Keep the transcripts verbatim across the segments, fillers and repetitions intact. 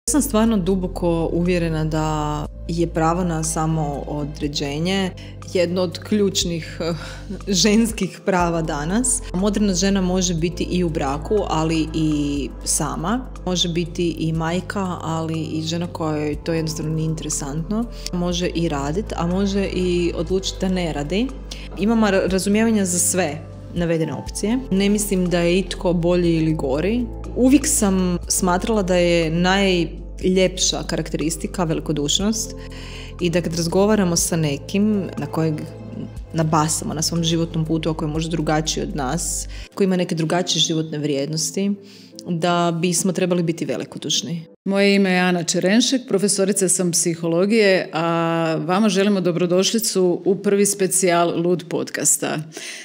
Sam stvarno duboko uvjerena da je pravo na samoodređenje jedno od ključnih ženskih prava danas. Moderna žena može biti i u braku, ali i sama. Može biti i majka, ali i žena kojoj to jednostavno nije interesantno. Može i raditi, a može i odlučiti da ne radi. Imamo razumijevanja za sve navedene opcije. Ne mislim da je itko bolji ili gori. Uvijek sam smatrala da je najljepša karakteristika velikodušnost i da kad razgovaramo sa nekim na kojeg nabasamo na svom životnom putu, ako je možda drugačiji od nas, koji ima neke drugačije životne vrijednosti, da bismo trebali biti velikodušni. Moje ime je Ana Čerenšek, profesorica sam psihologije, a vama želimo dobrodošlicu u prvi specijal Lud podcasta.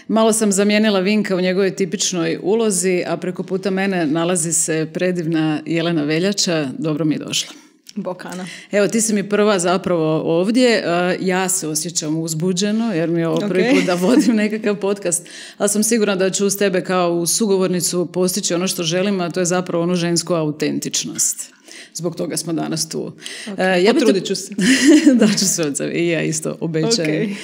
Malo sam zamijenila Vinka u njegovoj tipičnoj ulozi, a preko puta mene nalazi se predivna Jelena Veljača. Dobro mi je došla. Bok, Ana. Evo, ti si mi prva zapravo ovdje. Ja se osjećam uzbuđeno jer mi je ovo prvi Okay. put da vodim nekakav podcast, ali sam sigurna da ću uz tebe kao u sugovornicu postići ono što želim, a to je zapravo onu žensku autentičnost. Zbog toga smo danas tu. Okay. Ja Potrudit ću se. Da ću se od sebe. I ja isto obećajem.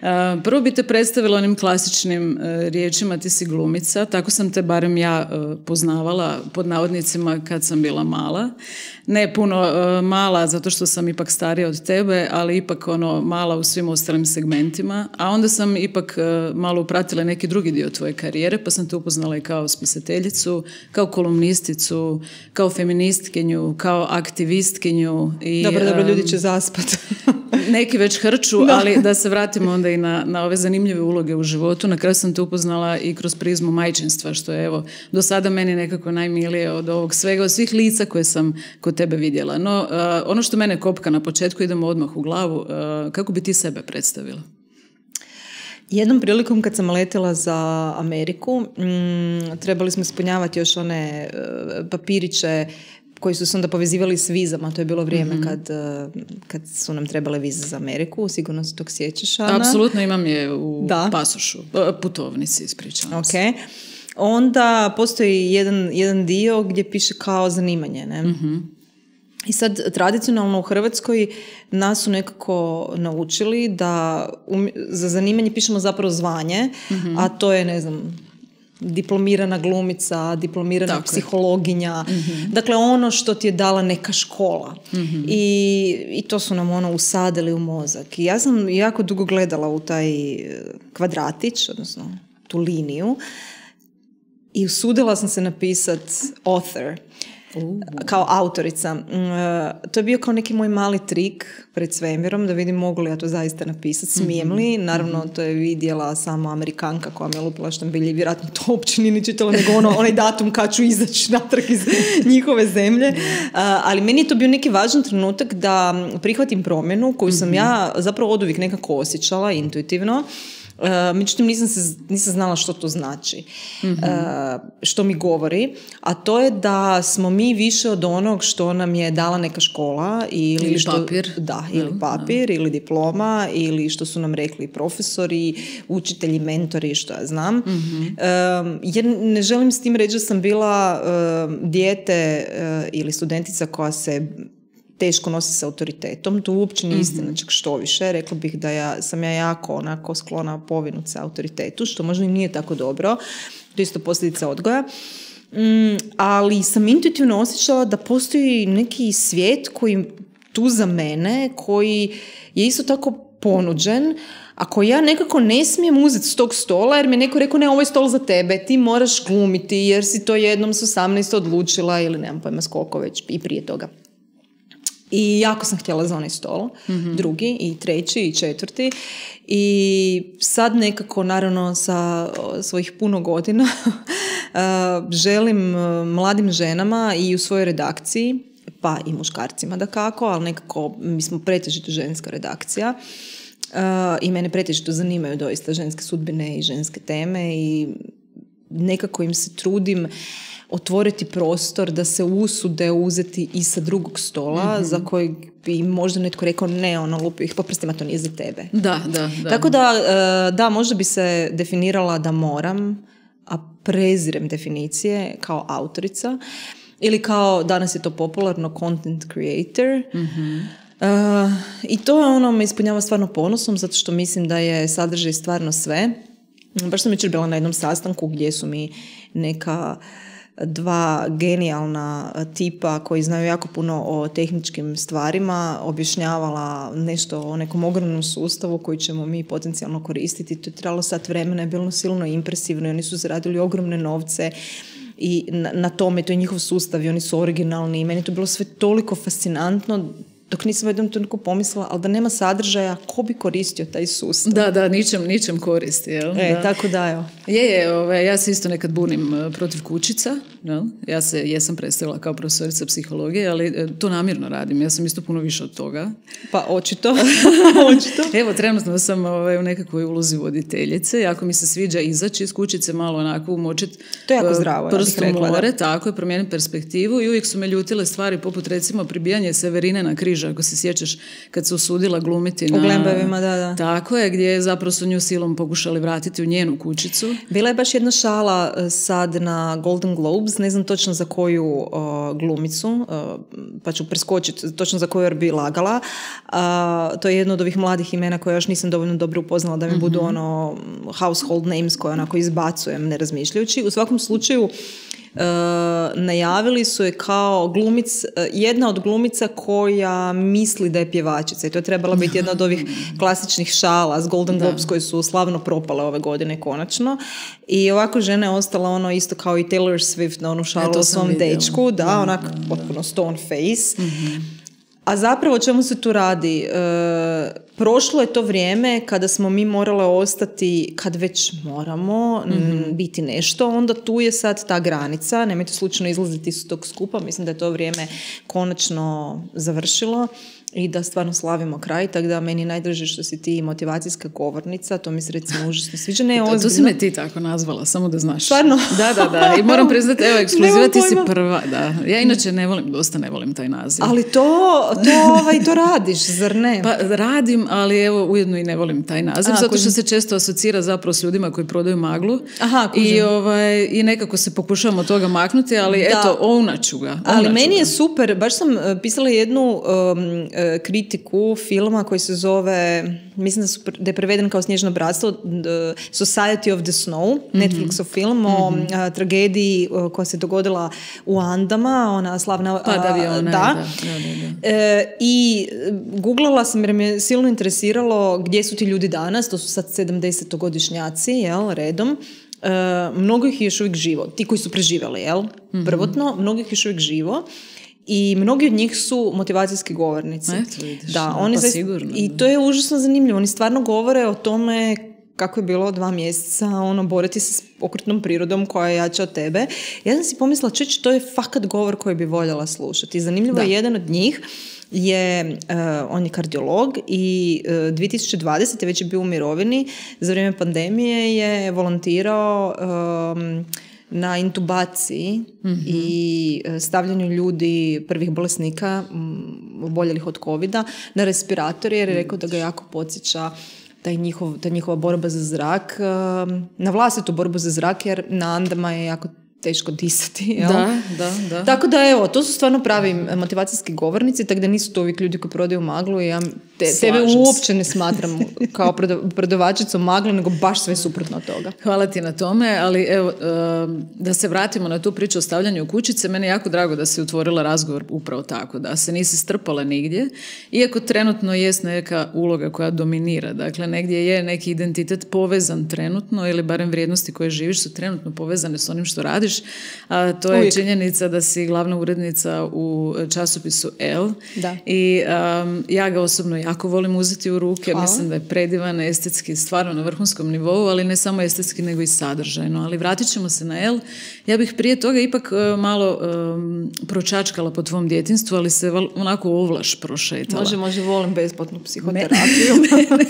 Okay. Prvo bi te predstavila onim klasičnim riječima, ti si glumica. Tako sam te barem ja poznavala pod navodnicima kad sam bila mala. Ne puno mala zato što sam ipak starija od tebe, ali ipak ono mala u svim ostalim segmentima. A onda sam ipak malo upratila neki drugi dio tvoje karijere, pa sam te upoznala i kao spisateljicu, kao kolumnisticu, kao feministkinju, kao aktivistkinju. I, dobro, dobro, ljudi će zaspati. Neki već hrču, da. Ali da se vratimo onda i na, na ove zanimljive uloge u životu. Na kraju sam te upoznala i kroz prizmu majčinstva, što je evo do sada meni nekako najmilije od ovog svega, od svih lica koje sam kod tebe vidjela. No, uh, ono što mene kopka na početku, idemo odmah u glavu, uh, kako bi ti sebe predstavila? Jednom prilikom kad sam letjela za Ameriku, mm, trebali smo ispunjavati još one uh, papiriće koji su se onda povezivali s vizama. To je bilo vrijeme mm-hmm. kad, kad su nam trebale vize za Ameriku. Sigurno se tog sjećaš, Ana. Apsolutno, imam je u da. pasošu, putovnici, ispričavam se. Okay. Onda postoji jedan, jedan dio gdje piše kao zanimanje. Ne? Mm-hmm. I sad, tradicionalno u Hrvatskoj nas su nekako naučili da um, za zanimanje pišemo zapravo zvanje, mm-hmm. a to je, ne znam, diplomirana glumica, diplomirana Tako psihologinja, mm-hmm. dakle ono što ti je dala neka škola. Mm-hmm. I, i to su nam ono usadili u mozak. I ja sam jako dugo gledala u taj kvadratić, odnosno tu liniju, i usudila sam se napisati author, Uh. kao autorica. Uh, to je bio kao neki moj mali trik pred svemirom da vidim mogu li ja to zaista napisati, smijem li. Naravno, mm-hmm. to je vidjela samo Amerikanka koja me je lupila štambilje i vjerojatno to uopće nije ni čitala, nego ono, onaj datum kad ću izaći natrag iz njihove zemlje. Uh, ali meni je to bio neki važan trenutak da prihvatim promjenu koju sam mm-hmm. ja zapravo oduvijek nekako osjećala intuitivno. Uh, međutim nisam, se, nisam znala što to znači, mm-hmm. uh, što mi govori, a to je da smo mi više od onog što nam je dala neka škola ili, ili što, papir, da, ili no, papir no. ili diploma ili što su nam rekli profesori, učitelji, mentori, što ja znam. Mm-hmm. Uh, jer ne želim s tim reći da sam bila uh, dijete uh, ili studentica koja se teško nosi s autoritetom, to uopće nije istina, mm-hmm. čak što više. Rekla bih da ja, sam ja jako onako sklona povinuti se autoritetu, što možda i nije tako dobro. To je isto posljedica odgoja. Mm, ali sam intuitivno osjećala da postoji neki svijet koji tu za mene, koji je isto tako ponuđen, a koji ja nekako ne smijem uzeti s tog stola, jer mi je neko rekao, ne, ovo je stol za tebe, ti moraš glumiti, jer si to jednom s osamnaest odlučila, ili nemam pojma skoliko već i prije toga. I jako sam htjela za onaj stol, mm-hmm. drugi i treći i četvrti. I sad nekako, naravno, sa svojih puno godina želim mladim ženama i u svojoj redakciji, pa i muškarcima dakako, ali nekako mi smo pretežito ženska redakcija. I mene pretežito zanimaju doista ženske sudbine i ženske teme i nekako im se trudim otvoriti prostor da se usude uzeti i sa drugog stola, mm-hmm. za kojeg bi možda netko rekao ne, ono, lupio ih po prstima, to nije za tebe. Da, da, da. Tako da, da, možda bi se definirala da moram, a prezirem definicije kao autorica, ili kao danas je to popularno content creator. Mm-hmm. Uh, I to je ono me ispunjava stvarno ponosom, zato što mislim da je sadržaj stvarno sve. Baš sam jučer bila na jednom sastanku gdje su mi neka dva genijalna tipa koji znaju jako puno o tehničkim stvarima objašnjavala nešto o nekom ogromnom sustavu koji ćemo mi potencijalno koristiti. To je trebalo sat vremena, je bilo silno impresivno i oni su zaradili ogromne novce i na, na tome, to je njihov sustav i oni su originalni i meni to bilo sve toliko fascinantno dok nisam u jednom trenutku pomislila, ali da nema sadržaja, ko bi koristio taj sustav? Da, da, ničem, ničem koristi, jel? E, da. tako da, jo. Je, je, ove, ja se isto nekad bunim protiv kućica, jel? Ja se jesam predstavila kao profesorica psihologije, ali to namjerno radim, ja sam isto puno više od toga. Pa, očito. očito. Evo, trenutno sam ove, u nekakvoj ulozi voditeljice, jako mi se sviđa izaći iz kućice, malo onako umočiti prstom u more, tako je, promijeniti perspektivu i uvijek su me ljutile stvari poput recimo pribijanje Severine na križ, ako se sjećaš kad se usudila glumiti na... U Glembajevima, da, da. Tako je, gdje zapravo su nju silom pokušali vratiti u njenu kućicu. Bila je baš jedna šala sad na Golden Globes, ne znam točno za koju uh, glumicu, uh, pa ću preskočiti točno za koju bi lagala. Uh, to je jedno od ovih mladih imena koje još nisam dovoljno dobro upoznala da mi mm-hmm. budu ono household names koje onako izbacujem ne razmišljajući. U svakom slučaju Uh, najavili su je kao glumic, uh, jedna od glumica koja misli da je pjevačica i to je trebala biti jedna od ovih klasičnih šala s Golden Globes koji su slavno propale ove godine konačno i ovako žena je ostala ono isto kao i Taylor Swift na onu šalu o svom dečku, da, da onak da, potpuno da. Stone face. Mm-hmm. A zapravo o čemu se tu radi? E, prošlo je to vrijeme kada smo mi morale ostati, kad već moramo mm-hmm. m, biti nešto, onda tu je sad ta granica, nemojte slučajno izlaziti iz tog skupa, mislim da je to vrijeme konačno završilo i da stvarno slavimo kraj, tako da meni najdraže što si ti motivacijska govornica, to mi se recimo užasno sviđa. Ne, to, to si me ti tako nazvala, samo da znaš. Stvarno? Da, da, da. I moram priznati, evo, ekskluziva ti si prva. Da. Ja inače ne volim, dosta ne volim taj naziv. Ali to, to, ovaj, to radiš, zar ne? Pa radim, ali evo, ujedno i ne volim taj naziv, A, zato što se često asocira zapravo s ljudima koji prodaju maglu. Aha, I, ovaj, i nekako se pokušavam od toga maknuti, ali da. Eto, ovnaću ga. Ovnaču ali meni ga. Je super, baš sam pisala jednu um, kritiku filma koji se zove, mislim da, su, da je preveden kao Snježno bratstvo, Society of the Snow, mm-hmm. Netflixov film o mm-hmm. a, tragediji a, koja se dogodila u Andama, ona slavna... Pad aviona. Da. Da, da, da. E, I googlala sam jer me silno interesiralo gdje su ti ljudi danas, to su sad sedamdesetogodišnjaci, jel, redom. E, mnogo ih je još uvijek živo, ti koji su preživjeli, jel, mm-hmm. prvotno, mnogo ih je još uvijek živo. I mnogi od njih su motivacijski govornici. Eto, vidiš, da, oni pa zaista, sigurno. I to je užasno zanimljivo. Oni stvarno govore o tome kako je bilo dva mjeseca ono, boriti se s okrutnom prirodom koja je jača od tebe. Ja sam si pomislila, čeč, to je fakat govor koji bi voljela slušati. Zanimljivo da. Je jedan od njih je, uh, on je kardiolog i uh, dvije tisuće dvadesete već je bio u mirovini. Za vrijeme pandemije je volontirao um, na intubaciji mm-hmm. i stavljanju ljudi, prvih bolesnika oboljelih od covida na respirator jer je rekao da ga jako podsjeća taj njihov, ta njihova borba za zrak, na vlastitu borbu za zrak jer na Andama je jako teško disati. Jel? Da, da, da. Tako da evo, to su stvarno pravi motivacijski govornici, tako da nisu to uvijek ljudi koji prodaju maglu i ja te, tebe uopće ne smatram kao prodavačicom magle, nego baš sve suprotno od toga. Hvala ti na tome, ali evo, da se vratimo na tu priču o stavljanju kućice, meni je jako drago da si otvorila razgovor upravo tako, da se nisi strpala nigdje, iako trenutno jest neka uloga koja dominira, dakle negdje je neki identitet povezan trenutno ili barem vrijednosti koje živiš su trenutno povezane s onim što radiš, a to je Uvijek. Činjenica da si glavna urednica u časopisu Elle da. I um, ja ga osobno jako volim uzeti u ruke. Hvala. Mislim da je predivan, estetski, stvarno na vrhunskom nivou, ali ne samo estetski nego i sadržajno. Ali vratit ćemo se na Elle. Ja bih prije toga ipak uh, malo um, pročačkala po tvom djetinstvu, ali se val, onako ovlaš prošetala. Može, može, volim besplatnu psihoterapiju. mene,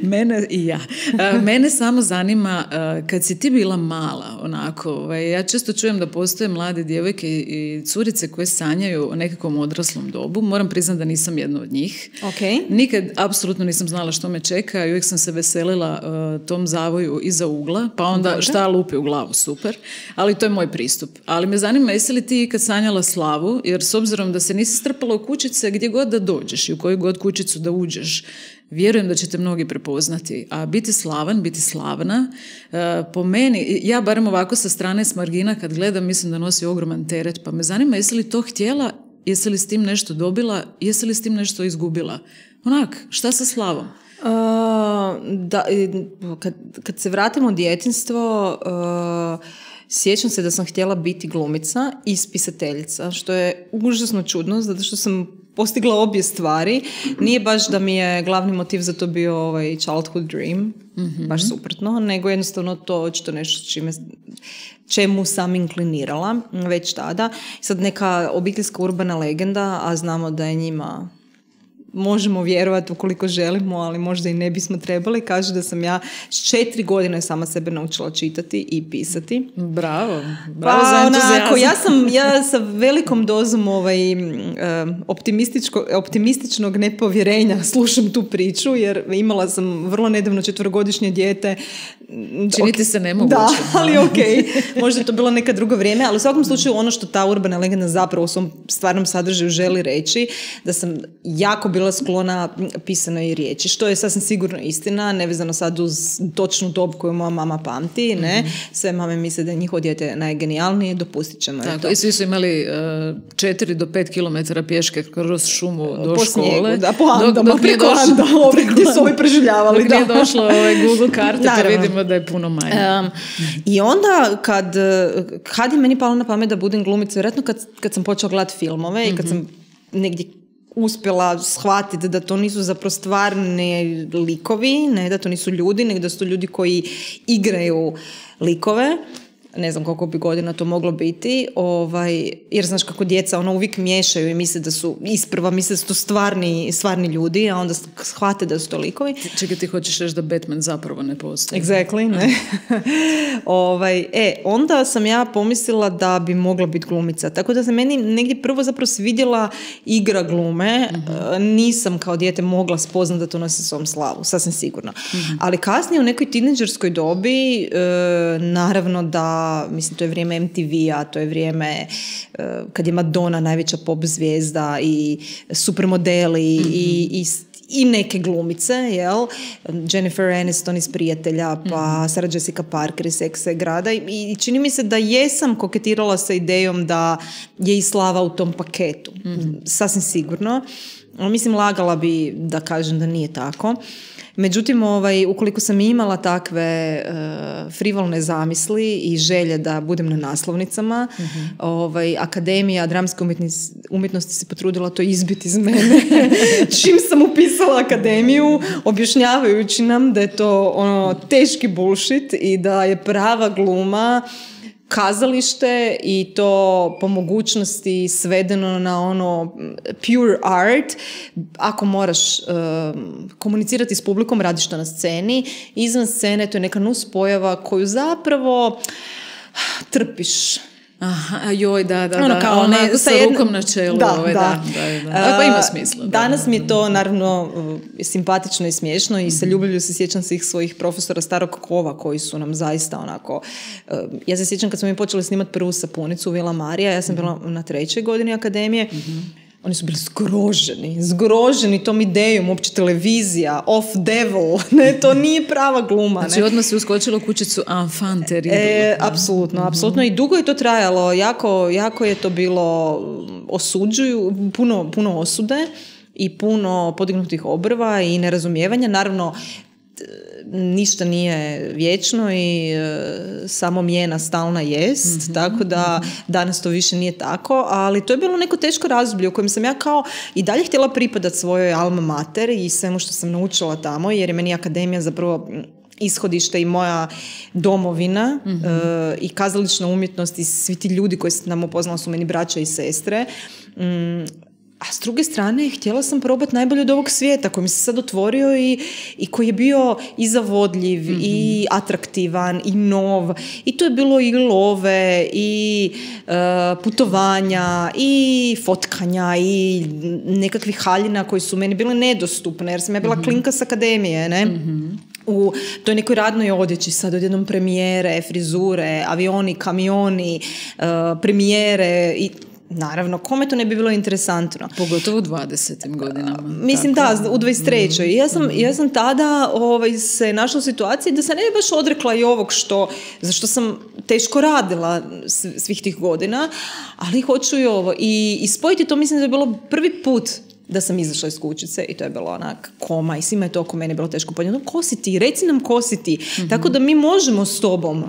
mene i ja. Uh, mene samo zanima, uh, kad si ti bila mala, onako, ovaj, ja često čujem da postoje mlade djevojke i curice koje sanjaju o nekakvom odraslom dobu. Moram priznati da nisam jedna od njih. Ok. Okay. Nikad apsolutno nisam znala što me čeka i uvijek sam se veselila uh, tom zavoju iza ugla, pa onda Dobre. šta lupi u glavu, super. Ali to je moj pristup. Ali me zanima, jesi li ti kad sanjala slavu, jer s obzirom da se nisi strpala u kućice gdje god da dođeš i u koju god kućicu da uđeš, vjerujem da će te mnogi prepoznati. A biti slavan, biti slavna, uh, po meni, ja barem ovako sa strane s margina kad gledam, mislim da nosi ogroman teret, pa me zanima jesi li to htjela, jesi li s tim nešto dobila, jesi li s tim nešto izgubila? Onak, šta sa slavom? Uh, da, kad, kad se vratimo u djetinjstvo, uh, sjećam se da sam htjela biti glumica i spisateljica, što je užasno čudno, zato što sam postigla obje stvari. Nije baš da mi je glavni motiv za to bio ovaj childhood dream, mm-hmm. baš suprotno, nego jednostavno to očito nešto čime, čemu sam inklinirala već tada. Sad neka obiteljska urbana legenda, a znamo da je njima... možemo vjerovati ukoliko želimo, ali možda i ne bismo trebali, kaže da sam ja s četiri godine sama sebe naučila čitati i pisati. Bravo, bravo pa, za entuzijazam. Onako, ja sam ja sa velikom dozom ovaj, optimističko, optimističnog nepovjerenja slušam tu priču, jer imala sam vrlo nedavno četverogodišnje dijete. Činiti se nemoguće. Da, ali ok, možda je to bilo neka drugo vrijeme, ali u svakom slučaju ono što ta urbana legenda zapravo u svom stvarnom sadržaju želi reći, da sam jako bila sklona pisanoj riječi, što je sasvim sigurno istina, nevezano sad uz točnu dob koju moja mama pamti, ne? Mm-hmm. Sve mame misle da je njihovo dijete najgenijalnije, dopustit ćemo. Tako, i svi su imali četiri do pet kilometara pješke kroz šumu do po škole. Snijegu, da, po Andama, dok, dok preko Anda, gdje su ovi preživljavali. Dok nije došlo ovaj Google karte, pa vidimo da je puno manje. Um, I onda kad, kad je meni palo na pamet da budem glumica, vjerojatno kad, kad sam počela gledati filmove mm-hmm. i kad sam negdje uspjela shvatiti da to nisu zapravo stvarni likovi, ne da to nisu ljudi, nego da su to ljudi koji igraju likove. Ne znam koliko bi godina to moglo biti, ovaj, jer znaš kako djeca ono uvijek miješaju i misle da su, isprva misle da su to stvarni, stvarni ljudi, a onda shvate da su to likovi. Čekaj, ti hoćeš reći da Batman zapravo ne postoji. Exactly, ne. ovaj, e, onda sam ja pomislila da bi mogla biti glumica, tako da se meni negdje prvo zapravo svidjela igra glume, uh-huh. nisam kao dijete mogla spoznati da to nosi svom slavu, sasvim sigurno. Uh-huh. Ali kasnije u nekoj tinejdžerskoj dobi, e, naravno da mislim, to je vrijeme em te ve-a, to je vrijeme uh, kad je Madonna najveća pop zvijezda i supermodeli mm-hmm. i, i, i neke glumice, jel? Jennifer Aniston iz Prijatelja, pa mm-hmm. Sarah Jessica Parker iz Sexa i grada i, i čini mi se da jesam koketirala sa idejom da je i slava u tom paketu. Mm-hmm. Sasvim sigurno. Mislim, lagala bi da kažem da nije tako. Međutim, ovaj, ukoliko sam imala takve uh, frivolne zamisli i želje da budem na naslovnicama, mm-hmm. ovaj, Akademija dramske umjetnosti, umjetnosti se potrudila to izbiti iz mene. Čim sam upisala akademiju, objašnjavajući nam da je to ono, teški bullshit i da je prava gluma kazalište i to po mogućnosti svedeno na ono pure art. Ako moraš uh, komunicirati s publikom, radiš to na sceni. Izvan scene to je neka nuspojava koju zapravo trpiš. Aha, joj, da, da, ono, da. Kao Ona, ne, sa jedna, rukom na čelu. Da, ovaj, da. da, da, da. Pa ima smisla. Danas da, mi je to naravno simpatično i smiješno i sa ljubavlju se sjećam svih svojih profesora starog kova koji su nam zaista onako... Ja se sjećam kad smo mi počeli snimati prvu sapunicu u Vila Marija, ja sam bila na trećoj godini akademije, mm-hmm. Oni su bili zgroženi, zgroženi tom idejom, uopće televizija, off devil, ne, to nije prava gluma. Znači ne. Odmah si uskočila u kućicu enfant terrible. E, apsolutno, mm-hmm. apsolutno i dugo je to trajalo, jako, jako je to bilo osuđuju, puno, puno osude i puno podignutih obrva i nerazumijevanja, naravno ništa nije vječno i e, samo mijena stalna jest, mm-hmm. tako da danas to više nije tako, ali to je bilo neko teško razdoblje u kojem sam ja kao i dalje htjela pripadati svojoj alma mater i svemu što sam naučila tamo, jer je meni akademija zapravo ishodište i moja domovina, mm-hmm. e, i kazališna umjetnost i svi ti ljudi koji sam nam upoznala su meni braća i sestre. Mm, a a s druge strane htjela sam probati najbolje od ovog svijeta koji mi se sad otvorio i, i koji je bio i zavodljiv mm-hmm. i atraktivan i nov i to je bilo i love i uh, putovanja i fotkanja i nekakvih haljina koji su meni bile nedostupne jer sam ja bila mm-hmm. klinka s akademije, ne? Mm-hmm. u toj nekoj radnoj odjeći sad odjednom premijere, frizure, avioni, kamioni, uh, premijere i naravno, kome to ne bi bilo interesantno? Pogotovo u dvadesetim godinama. Mislim tako. Da, u dvadeset trećoj. Mm. Ja, sam, ja sam tada ovaj, se našla u situaciji da se ne bi baš odrekla i ovog što, za što sam teško radila svih tih godina, ali hoću i ovo. I, i spojiti to mislim da je bilo prvi put da sam izašla iz kućice i to je bilo onak koma i svima je to oko mene bilo teško podnijeti. Ko si ti? Reci nam ko si ti. Mm-hmm. Tako da mi možemo s tobom.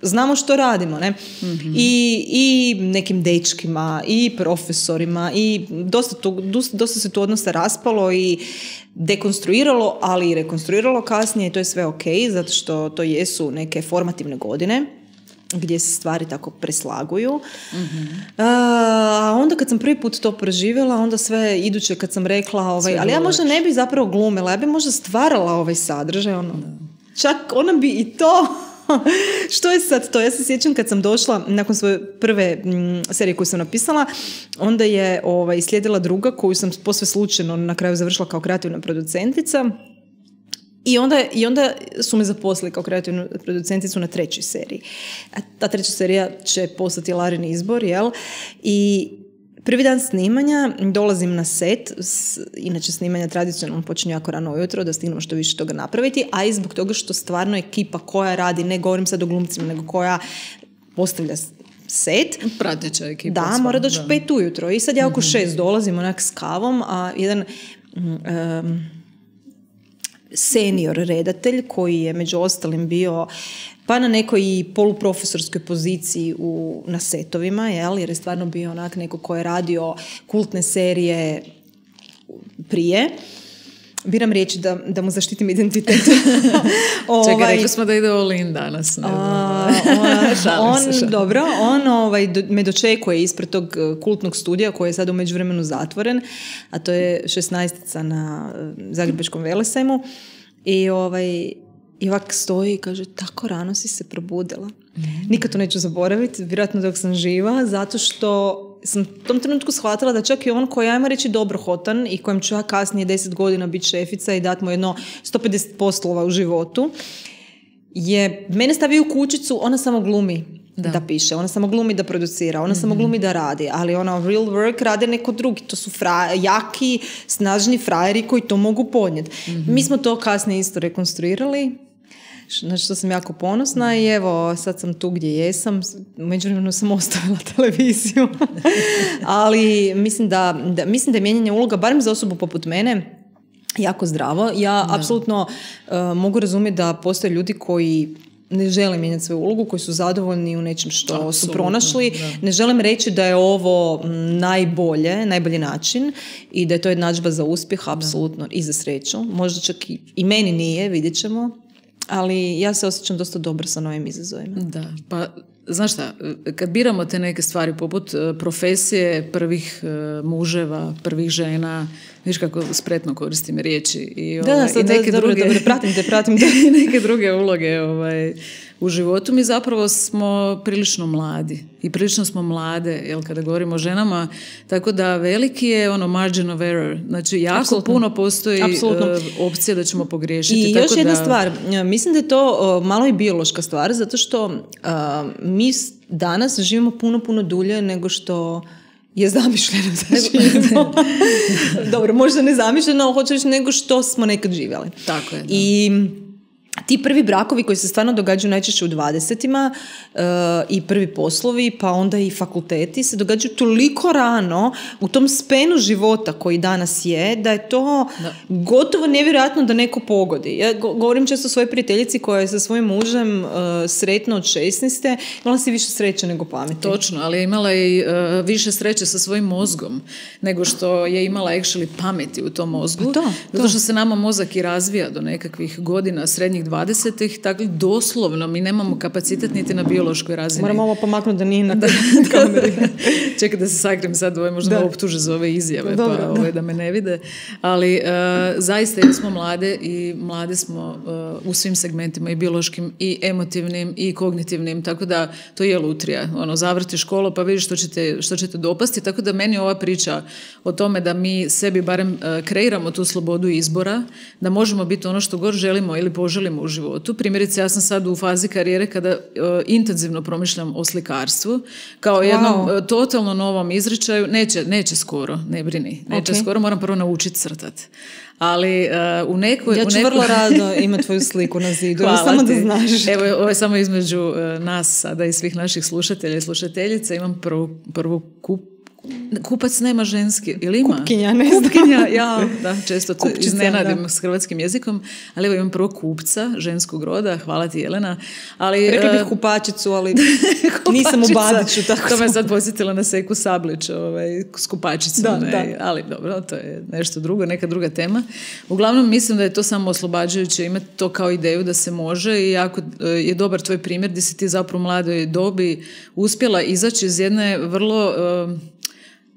Znamo što radimo, ne? Mm-hmm. I, i nekim dečkima, i profesorima, i dosta, to, dosta se tu odnosa raspalo i dekonstruiralo, ali i rekonstruiralo kasnije i to je sve ok, zato što to jesu neke formativne godine gdje se stvari tako preslaguju. Mm-hmm. A onda kad sam prvi put to proživjela, onda sve iduće kad sam rekla, ovaj, ali ja možda ne bi zapravo glumila, ja bi možda stvarala ovaj sadržaj, ono, čak ona bi i to... Što je sad to? Ja se sjećam kad sam došla nakon svoje prve m, serije koju sam napisala, onda je ovaj, slijedila druga koju sam posve slučajno na kraju završila kao kreativna producentica i onda, i onda su me zaposlili kao kreativnu producenticu na trećoj seriji. A ta treća serija će postati Larin izbor, jel? I prvi dan snimanja dolazim na set, inače snimanja tradicionalno počinju jako rano ujutro da stignemo što više toga napraviti, a i zbog toga što stvarno ekipa koja radi, ne govorim sad o glumcima, nego koja postavlja set. Prateća ekipa. Da, mora doći u pet ujutro i sad ja oko šest dolazim onak s kavom, a jedan um, senior redatelj koji je među ostalim bio pa na nekoj poluprofesorskoj poziciji u, na setovima, jel? Jer je stvarno bio onak neko ko je radio kultne serije prije. Biram riječi da, da mu zaštitim identitet. ovaj, Čekaj, rekli smo da ide all in danas. Ne, a, on, on, dobro, on ovaj, do, me dočekuje ispred tog kultnog studija koji je sad u međuvremenu zatvoren, a to je šesnaestica na Zagrebačkom Velesajmu. I ovaj... I ovak stoji i kaže, tako rano si se probudila. Mm-hmm. Nikad to neću zaboraviti, vjerojatno dok sam živa, zato što sam u tom trenutku shvatila da čak i on koji, ajmo reći, dobrohotan i kojem ću ja kasnije deset godina biti šefica i dati mu jedno sto pedeset poslova u životu, je mene stavio u kućicu, ona samo glumi da, da piše, ona samo glumi da producira, ona mm-hmm. samo glumi da radi, ali ona real work rade neko drugi, to su fra, jaki, snažni frajeri koji to mogu podnijeti. Mm-hmm. Mi smo to kasnije isto rekonstruirali, na što sam jako ponosna i evo, sad sam tu gdje jesam, međuvremenu sam ostavila televiziju, ali mislim da, da, mislim da je mijenjanje uloga, barem za osobu poput mene, jako zdravo. Ja da. apsolutno uh, mogu razumjeti da postoje ljudi koji ne žele mijenjati svoju ulogu, koji su zadovoljni u nečem što Absolutno, su pronašli. Da. Ne želim reći da je ovo najbolje, najbolji način i da je to jednadžba za uspjeh, apsolutno, da. i za sreću. Možda čak i, i meni nije, vidjet ćemo. Ali ja se osjećam dosta dobro sa novim izazovima. Da, pa znaš šta, kad biramo te neke stvari poput profesije prvih muževa, prvih žena, viš kako spretno koristim riječi i, da, ovaj, sad, i neke da, druge, dobro, dobro, pratim te, pratim te. i neke druge uloge ovaj, u životu, mi zapravo smo prilično mladi i prilično smo mlade, jel, kada govorimo o ženama, tako da veliki je ono margin of error, znači jako Absolutno. puno postoji Absolutno. opcije da ćemo pogriješiti. I tako još jedna da... stvar, mislim da je to malo i biološka stvar, zato što uh, mi danas živimo puno, puno dulje nego što je zamišljeno da živimo. Dobro, možda ne zamišljeno, ali hoću reći nego što smo nekad živjeli. Tako je, da. I ti prvi brakovi koji se stvarno događaju najčešće u dvadesetima uh, i prvi poslovi, pa onda i fakulteti se događaju toliko rano u tom spenu života koji danas je, da je to da. gotovo nevjerojatno da neko pogodi. Ja govorim često svojoj prijateljici koja je sa svojim mužem uh, sretna od šesnaeste, imala si više sreće nego pameti. Točno, ali je imala i uh, više sreće sa svojim mozgom nego što je imala actually pameti u tom mozgu. To, to. Zato što se nama mozak i razvija do nekakvih godina, srednjih dvadeset dvadesetih, tako doslovno mi nemamo kapacitet niti na biološkoj razini. Moramo ovo pomaknuti da nije na kameri. Čekaj da se sakrim sad, ovaj, možda me optuže za ove izjave, dobro, pa ovaj, da me ne vide. Ali uh, zaista jer smo mlade i mlade smo uh, u svim segmentima, i biološkim, i emotivnim, i kognitivnim, tako da to je lutrija. Ono, zavrti školu pa vidiš što ćete, što ćete dopasti, tako da meni ova priča o tome da mi sebi barem uh, kreiramo tu slobodu izbora, da možemo biti ono što god želimo ili poželimo u životu. Primjerice, ja sam sad u fazi karijere kada uh, intenzivno promišljam o slikarstvu, kao jednom wow. uh, totalno novom izričaju. Neće, neće skoro, ne brini. Neće okay. skoro, moram prvo naučiti crtati. Ali uh, u nekoj... Ja ću nekoj... vrlo rado imati tvoju sliku na zidu. Hvala samo ti. Da znaš. Evo, ovo je samo između uh, nas sada i svih naših slušatelja i slušateljica. Imam prvu, prvu kup Kupac nema ženski, ili ima? Kupkinja, ne znam. Kupkinja, ja, da, često to Kupčica, iznenadim da. S hrvatskim jezikom, ali evo imam prvo kupca, ženskog roda, hvala ti Jelena. Ali, rekla bih uh, kupačicu, ali nisam u Badiću. Tako to me sad posjetila na Seku Sablić, ovaj, s kupačicom, da, ne, da. ali dobro, to je nešto drugo, neka druga tema. Uglavnom mislim da je to samo oslobađajuće imati to kao ideju da se može i jako je dobar tvoj primjer gdje si ti zapravo u mladoj dobi uspjela izaći iz jedne vrlo... Uh,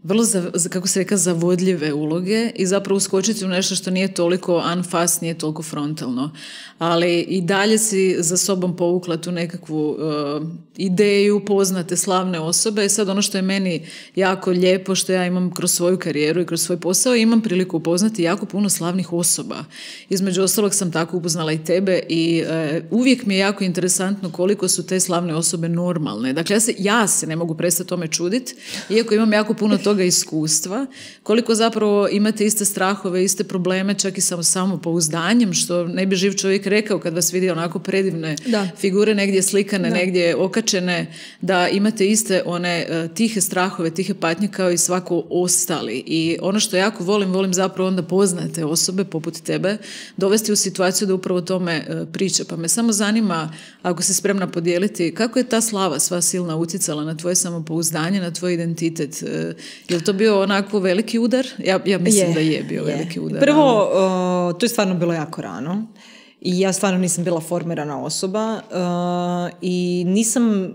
vrlo, za, kako se reka, zavodljive uloge i zapravo uskočiti u nešto što nije toliko unfast, nije toliko frontalno. Ali i dalje si za sobom povukla tu nekakvu uh, ideju, poznate slavne osobe. I sad ono što je meni jako lijepo, što ja imam kroz svoju karijeru i kroz svoj posao, imam priliku upoznati jako puno slavnih osoba. Između ostalog sam tako upoznala i tebe i uh, uvijek mi je jako interesantno koliko su te slavne osobe normalne. Dakle, ja se, ja se ne mogu prestati tome čuditi, iako imam jako puno toga iskustva, koliko zapravo imate iste strahove, iste probleme, čak i samo samopouzdanjem, što ne bi živ čovjek rekao kad vas vidi onako predivne da. Figure negdje slikane, da. Negdje okačene, da imate iste one uh, tihe strahove, tihe patnje kao i svako ostali. I ono što jako volim, volim zapravo onda poznate osobe poput tebe, dovesti u situaciju da upravo tome uh, priča. Pa me samo zanima, ako si spremna podijeliti, kako je ta slava sva silna utjecala na tvoje samopouzdanje, na tvoj identitet? Uh, je li to bio onako veliki udar? Ja, ja mislim je, da je bio je. veliki udar. Prvo, uh, to je stvarno bilo jako rano. I ja stvarno nisam bila formirana osoba uh, i nisam,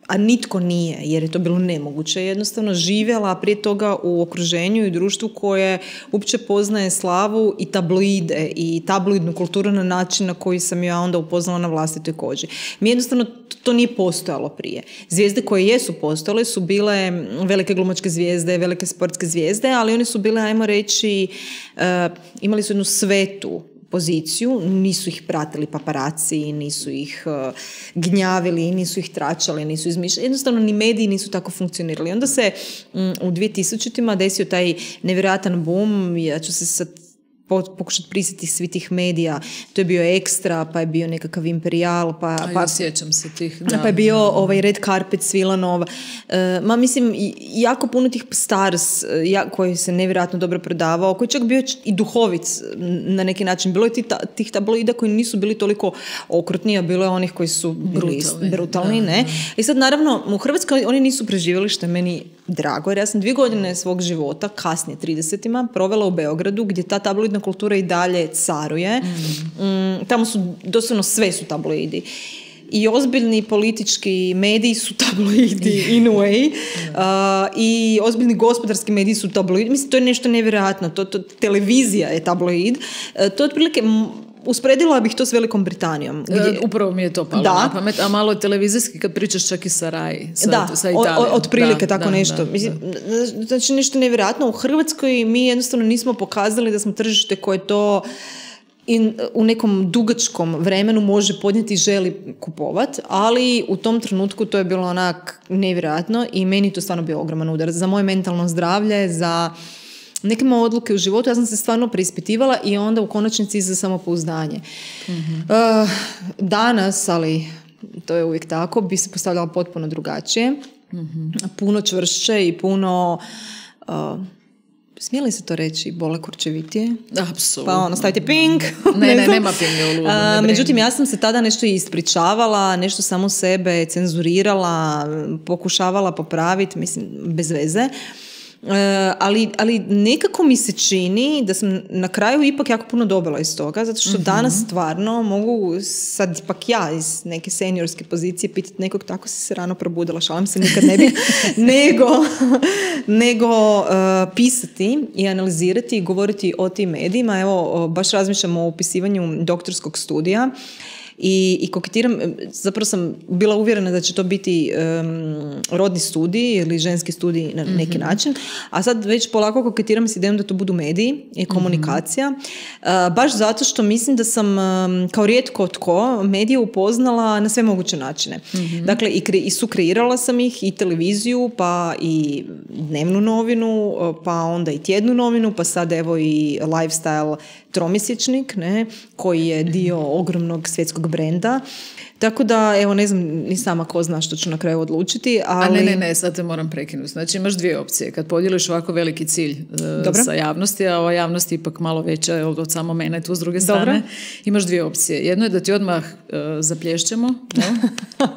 a nitko nije, jer je to bilo nemoguće, jednostavno živjela prije toga u okruženju i društvu koje uopće poznaje slavu i tabloide i tabloidnu kulturu na način na koji sam ja onda upoznala na vlastitoj koži. Mi jednostavno to nije postojalo prije. Zvijezde koje jesu postojale su bile velike glumačke zvijezde, velike sportske zvijezde, ali one su bile, ajmo reći, uh, imali su jednu svetu poziciju, nisu ih pratili paparaci, nisu ih uh, gnjavili, nisu ih tračali, nisu izmišljali. Jednostavno ni mediji nisu tako funkcionirali. Onda se um, u dvije tisućima desio taj nevjerojatan boom, ja ću se sad pokušati prisjetiti svi tih medija. To je bio Ekstra, pa je bio nekakav Imperijal, pa, A, pa, ja sjećam se tih, da. Pa je bio ovaj Red Carpet Svilanov. E, ma mislim, jako puno tih stars ja, koji se nevjerojatno dobro prodavao, koji čak bio i duhovic na neki način. Bilo je tih, tih tabloida koji nisu bili toliko okrutni, a bilo je onih koji su bili brutalni, brutalni ne. Da. I sad naravno, u Hrvatskoj oni nisu preživjeli, što je meni drago, jer ja sam dvije godine svog života, kasnije tridesetima, provela u Beogradu, gdje ta tabloidna kultura i dalje caruje. Mm. Mm, tamo su, doslovno sve su tabloidi. I ozbiljni politički mediji su tabloidi in a way. Uh, I ozbiljni gospodarski mediji su tabloidi. Mislim, to je nešto nevjerojatno. To, to, televizija je tabloid. Uh, to je otprilike... Usporedila bih to s Velikom Britanijom. Gdje... Upravo mi je to palo da. na pamet, a malo televizijski kad pričaš čak i sa Rai, sa, da, sa Italijom. Od prilike da, tako da, nešto. Da, Mislim, da. Znači nešto nevjerojatno. U Hrvatskoj mi jednostavno nismo pokazali da smo tržište koje to in, u nekom dugačkom vremenu može podnijeti i želi kupovati, ali u tom trenutku to je bilo onak nevjerojatno i meni to stvarno bio ogroman udar za moje mentalno zdravlje, za neke moje odluke u životu. Ja sam se stvarno preispitivala i onda u konačnici za samopouzdanje. Mm-hmm. Uh, danas, ali to je uvijek tako, bi se postavljala potpuno drugačije. Mm-hmm. Puno čvršće i puno... Uh, smije li se to reći bole kurčevitije? Apsolutno. Pa ono, stavite ping. Ne, ne, nema pinga u ludu. Uh, međutim, ja sam se tada nešto ispričavala, nešto samo sebe cenzurirala, pokušavala popraviti, mislim, bez veze. ali, ali nekako mi se čini da sam na kraju ipak jako puno dobila iz toga, zato što mm-hmm. danas stvarno mogu sad ipak ja iz neke seniorske pozicije pitati nekog tako si se rano probudila, šalim se, nikad ne bi, nego, nego uh, pisati i analizirati i govoriti o tim medijima. Evo, baš razmišljam o upisivanju doktorskog studija I, i koketiram, zapravo sam bila uvjerena da će to biti um, rodni studij ili ženski studij na neki mm-hmm. način, a sad već polako koketiram s idejom da to budu mediji i komunikacija, mm-hmm. uh, baš zato što mislim da sam um, kao rijetko tko medije upoznala na sve moguće načine. Mm-hmm. Dakle, i, kre, i sukreirala sam ih, i televiziju, pa i dnevnu novinu, pa onda i tjednu novinu, pa sad evo i lifestyle tromjesečnik, ne, koji je dio ogromnog svjetskog brenda. Tako da, evo, ne znam ni sama ko zna što ću na kraju odlučiti, ali... A ne, ne, ne, sad te moram prekinuti. Znači, imaš dvije opcije. Kad podijeliš ovako veliki cilj uh, sa javnosti, a ova javnost je ipak malo veća od samo mene tu s druge strane, Dobro. Imaš dvije opcije. Jedno je da ti odmah uh, zaplješćemo, no?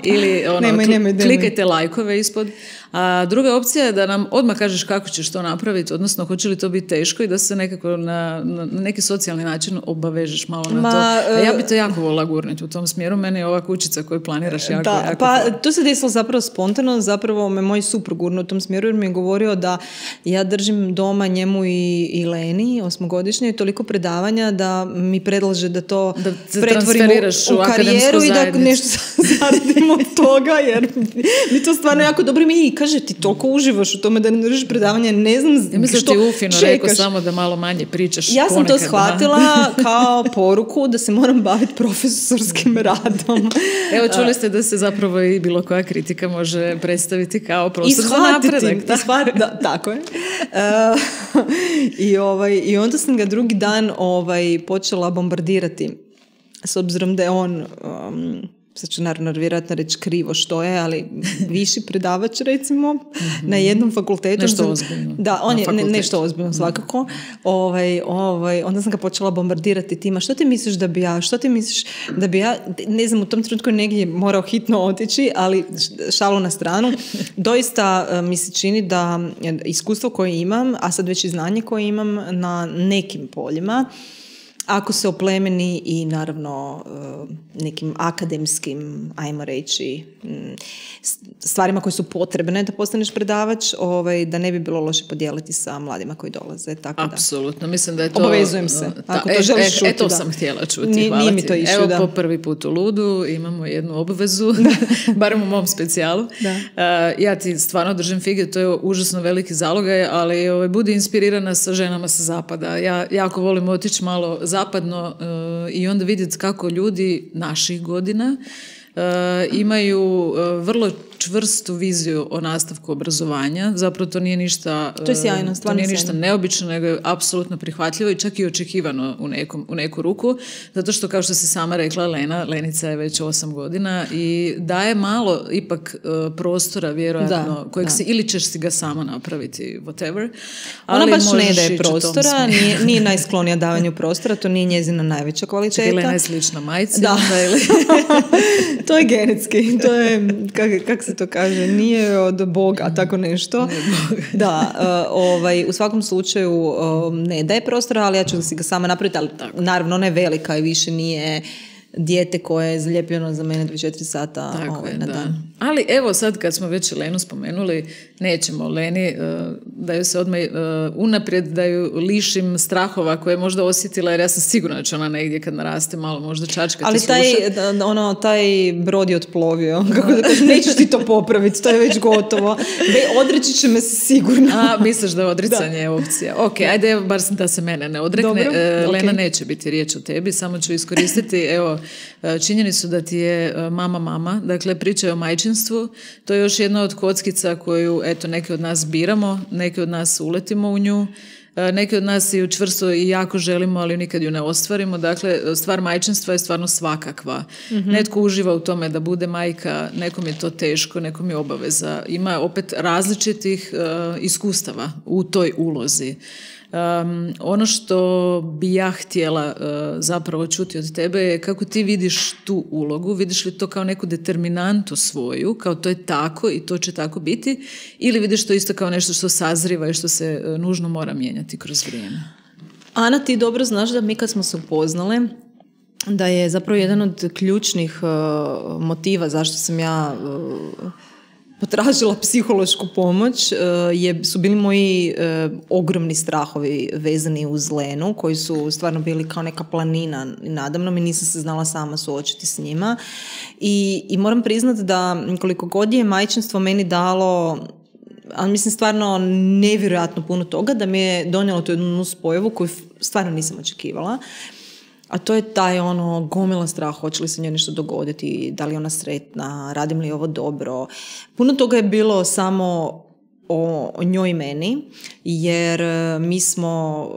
Ili ono, nemoj, nemoj, nemoj. klikajte lajkove ispod. A druga opcija je da nam odmah kažeš kako ćeš to napraviti, odnosno hoće li to biti teško i da se nekako na, na neki socijalni način obavežeš malo na Ma, to. A ja bi to jako volila gurniti u tom smjeru. Meni je ova kućica koju planiraš jako, da, jako pa hvala. To se desilo zapravo spontano, zapravo me moj suprug gurnuo u tom smjeru jer mi je govorio da ja držim doma njemu i, i Leni, osmogodišnje, toliko predavanja da mi predlaže da to da pretvorim u, u karijeru i da nešto zaradim od toga, jer mi to stvarno jako dobro mi kaže ti toliko uživaš u tome da ne držiš predavanja, ne znam ja mislim što ti ufino čekaš. Rekao samo da malo manje pričaš ja sam ponekad, to shvatila da. Kao poruku da se moram baviti profesorskim radom. Evo čuli ste da se zapravo i bilo koja kritika može predstaviti kao prostor za napredak. Da. Shvatiti, da, tako je. Uh, i, ovaj, I onda sam ga drugi dan ovaj, počela bombardirati s obzirom da je on um, sad ću naravno vjerojatno reći krivo što je, ali viši predavač recimo mm-hmm. na jednom fakultetu. Nešto ozbiljno. Da, on je ne, nešto ozbiljno svakako. Ovaj, ovaj, onda sam ga počela bombardirati tima. Što ti misliš da bi ja, što ti misliš da bi ja, ne znam, u tom trenutku negdje morao hitno otići, ali šalu na stranu. Doista mi se čini da iskustvo koje imam, a sad već i znanje koje imam na nekim poljima, ako se oplemeni i naravno nekim akademskim, ajmo reći, stvarima koje su potrebne da postaneš predavač, ovaj, da ne bi bilo loše podijeliti sa mladima koji dolaze. Tako apsolutno, mislim da je to... Obavezujem se, ako to e, želiš e, čuti. E, to da. sam htjela čuti, Ni, hvala nije mi ti. to išlo, Evo da. Po prvi put u Ludu imamo jednu obvezu, barem u mom specijalu. Da. Uh, ja ti stvarno držim fige, to je užasno veliki zalogaj, ali ovaj, budi inspirirana sa ženama sa zapada. Ja jako volim otići malo zapadno uh, i onda vidjeti kako ljudi naših godina uh, imaju uh, vrlo čvrstu viziju o nastavku obrazovanja. Zapravo to nije ništa, to je sjajno, to nije ništa neobično, nego je apsolutno prihvatljivo i čak i očekivano u, nekom, u neku ruku, zato što kao što si sama rekla, Lena, Lenica je već osam godina i daje malo ipak uh, prostora vjerojatno, da, kojeg da. Si, ili ćeš si ga sama napraviti, whatever. Ona ali baš ne daje prostora, nije, nije najsklonija davanju prostora, to nije njezina najveća kvaliteta. Čekaj, Lena je slična majci. Da. To je genetski, to je, kako kak se to kaže, nije od Boga, tako nešto. Da, uh, ovaj, u svakom slučaju uh, ne daje prostora, ali ja ću si ga sama napraviti, ali tako. Naravno ona je velika i više nije dijete koje je zalijepljeno za mene dvadeset četiri sata ovaj, je, na da. dan. Ali evo sad kad smo već Lenu spomenuli, nećemo Leni uh, da ju se odmah uh, unaprijed da ju lišim strahova koje je možda osjetila, jer ja sam sigurna da će ona negdje kad naraste malo možda čačkati. Ali taj, ono, taj brod je otplovio. Kako da kažem, nećeš ti to popraviti, to je već gotovo. Odreći će me se sigurno. A, misliš da je odricanje je opcija. Ok, ajde bar da se mene ne odrekne. Dobro, uh, Lena okay. neće biti riječ o tebi, samo ću iskoristiti, evo, činjenicu da ti je mama mama, dakle pričaju o majčinstvu, to je još jedna od kockica koju, eto, neke od nas biramo, neke od nas uletimo u nju, neki od nas ju čvrsto i jako želimo, ali nikad ju ne ostvarimo. Dakle, stvar majčinstva je stvarno svakakva. Mm-hmm. Netko uživa u tome da bude majka, nekom je to teško, nekom je obaveza. Ima opet različitih uh, iskustava u toj ulozi. Um, ono što bi ja htjela uh, zapravo čuti od tebe je kako ti vidiš tu ulogu, vidiš li to kao neku determinantu svoju, kao to je tako i to će tako biti, ili vidiš to isto kao nešto što sazriva i što se uh, nužno mora mijenjati kroz vrijeme? Ana, ti dobro znaš da mi kad smo se upoznale, da je zapravo jedan od ključnih uh, motiva zašto sam ja uh, potražila psihološku pomoć, uh, je, su bili moji uh, ogromni strahovi vezani uz Lenu, koji su stvarno bili kao neka planina nadamnom i nisam se znala sama suočiti s njima. I, i moram priznati da koliko god je majčinstvo meni dalo, ali mislim stvarno nevjerojatno puno toga, da mi je donijelo tu jednu nuspojavu koju stvarno nisam očekivala. A to je taj ono gomila strah, hoće li se njoj nešto dogoditi, da li je ona sretna, radim li ovo dobro. Puno toga je bilo samo o, o njoj i meni, jer mi smo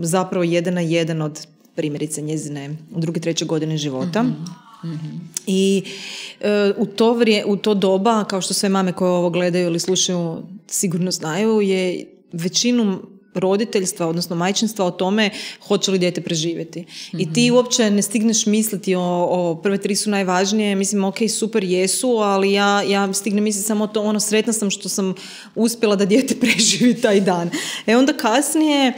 zapravo jedan na jedan od primjerice njezine druge, treće godine života. Mm-hmm. Mm-hmm. I e, u, to vrije, u to doba, kao što sve mame koje ovo gledaju ili slušaju sigurno znaju, je većinu roditeljstva, odnosno majčinstva o tome hoće li dijete preživjeti. Mm-hmm. I ti uopće ne stigneš misliti o, o prve tri su najvažnije, mislim ok, super jesu, ali ja, ja stignem misliti samo to, ono, sretna sam što sam uspjela da dijete preživi taj dan. E onda kasnije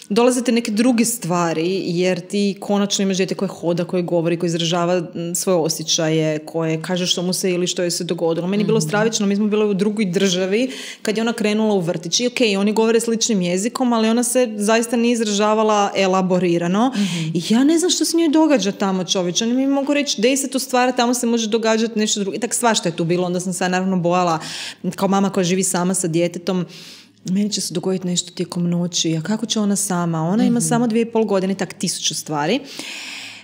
dolazite neke druge stvari, jer ti konačno imaš dijete koje hoda, koje govori, koje izražava svoje osjećaje, koje kaže što mu se ili što je se dogodilo. Meni je bilo stravično, mi smo bili u drugoj državi kad je ona krenula u vrtić. I ok, oni govore sličnim jezikom, ali ona se zaista nije izražavala elaborirano. Mm-hmm. I ja ne znam što se njoj događa tamo, čovječ. Oni mi mogu reći deset stvari, tamo se može događati nešto drugo. I tak svašta je tu bilo. Onda sam se naravno bojala kao mama koja živi sama sa djetetom. Meni će se dogoditi nešto tijekom noći, a kako će ona sama? Ona ima mm-hmm. samo dvije i pol godine, tak tisuću stvari.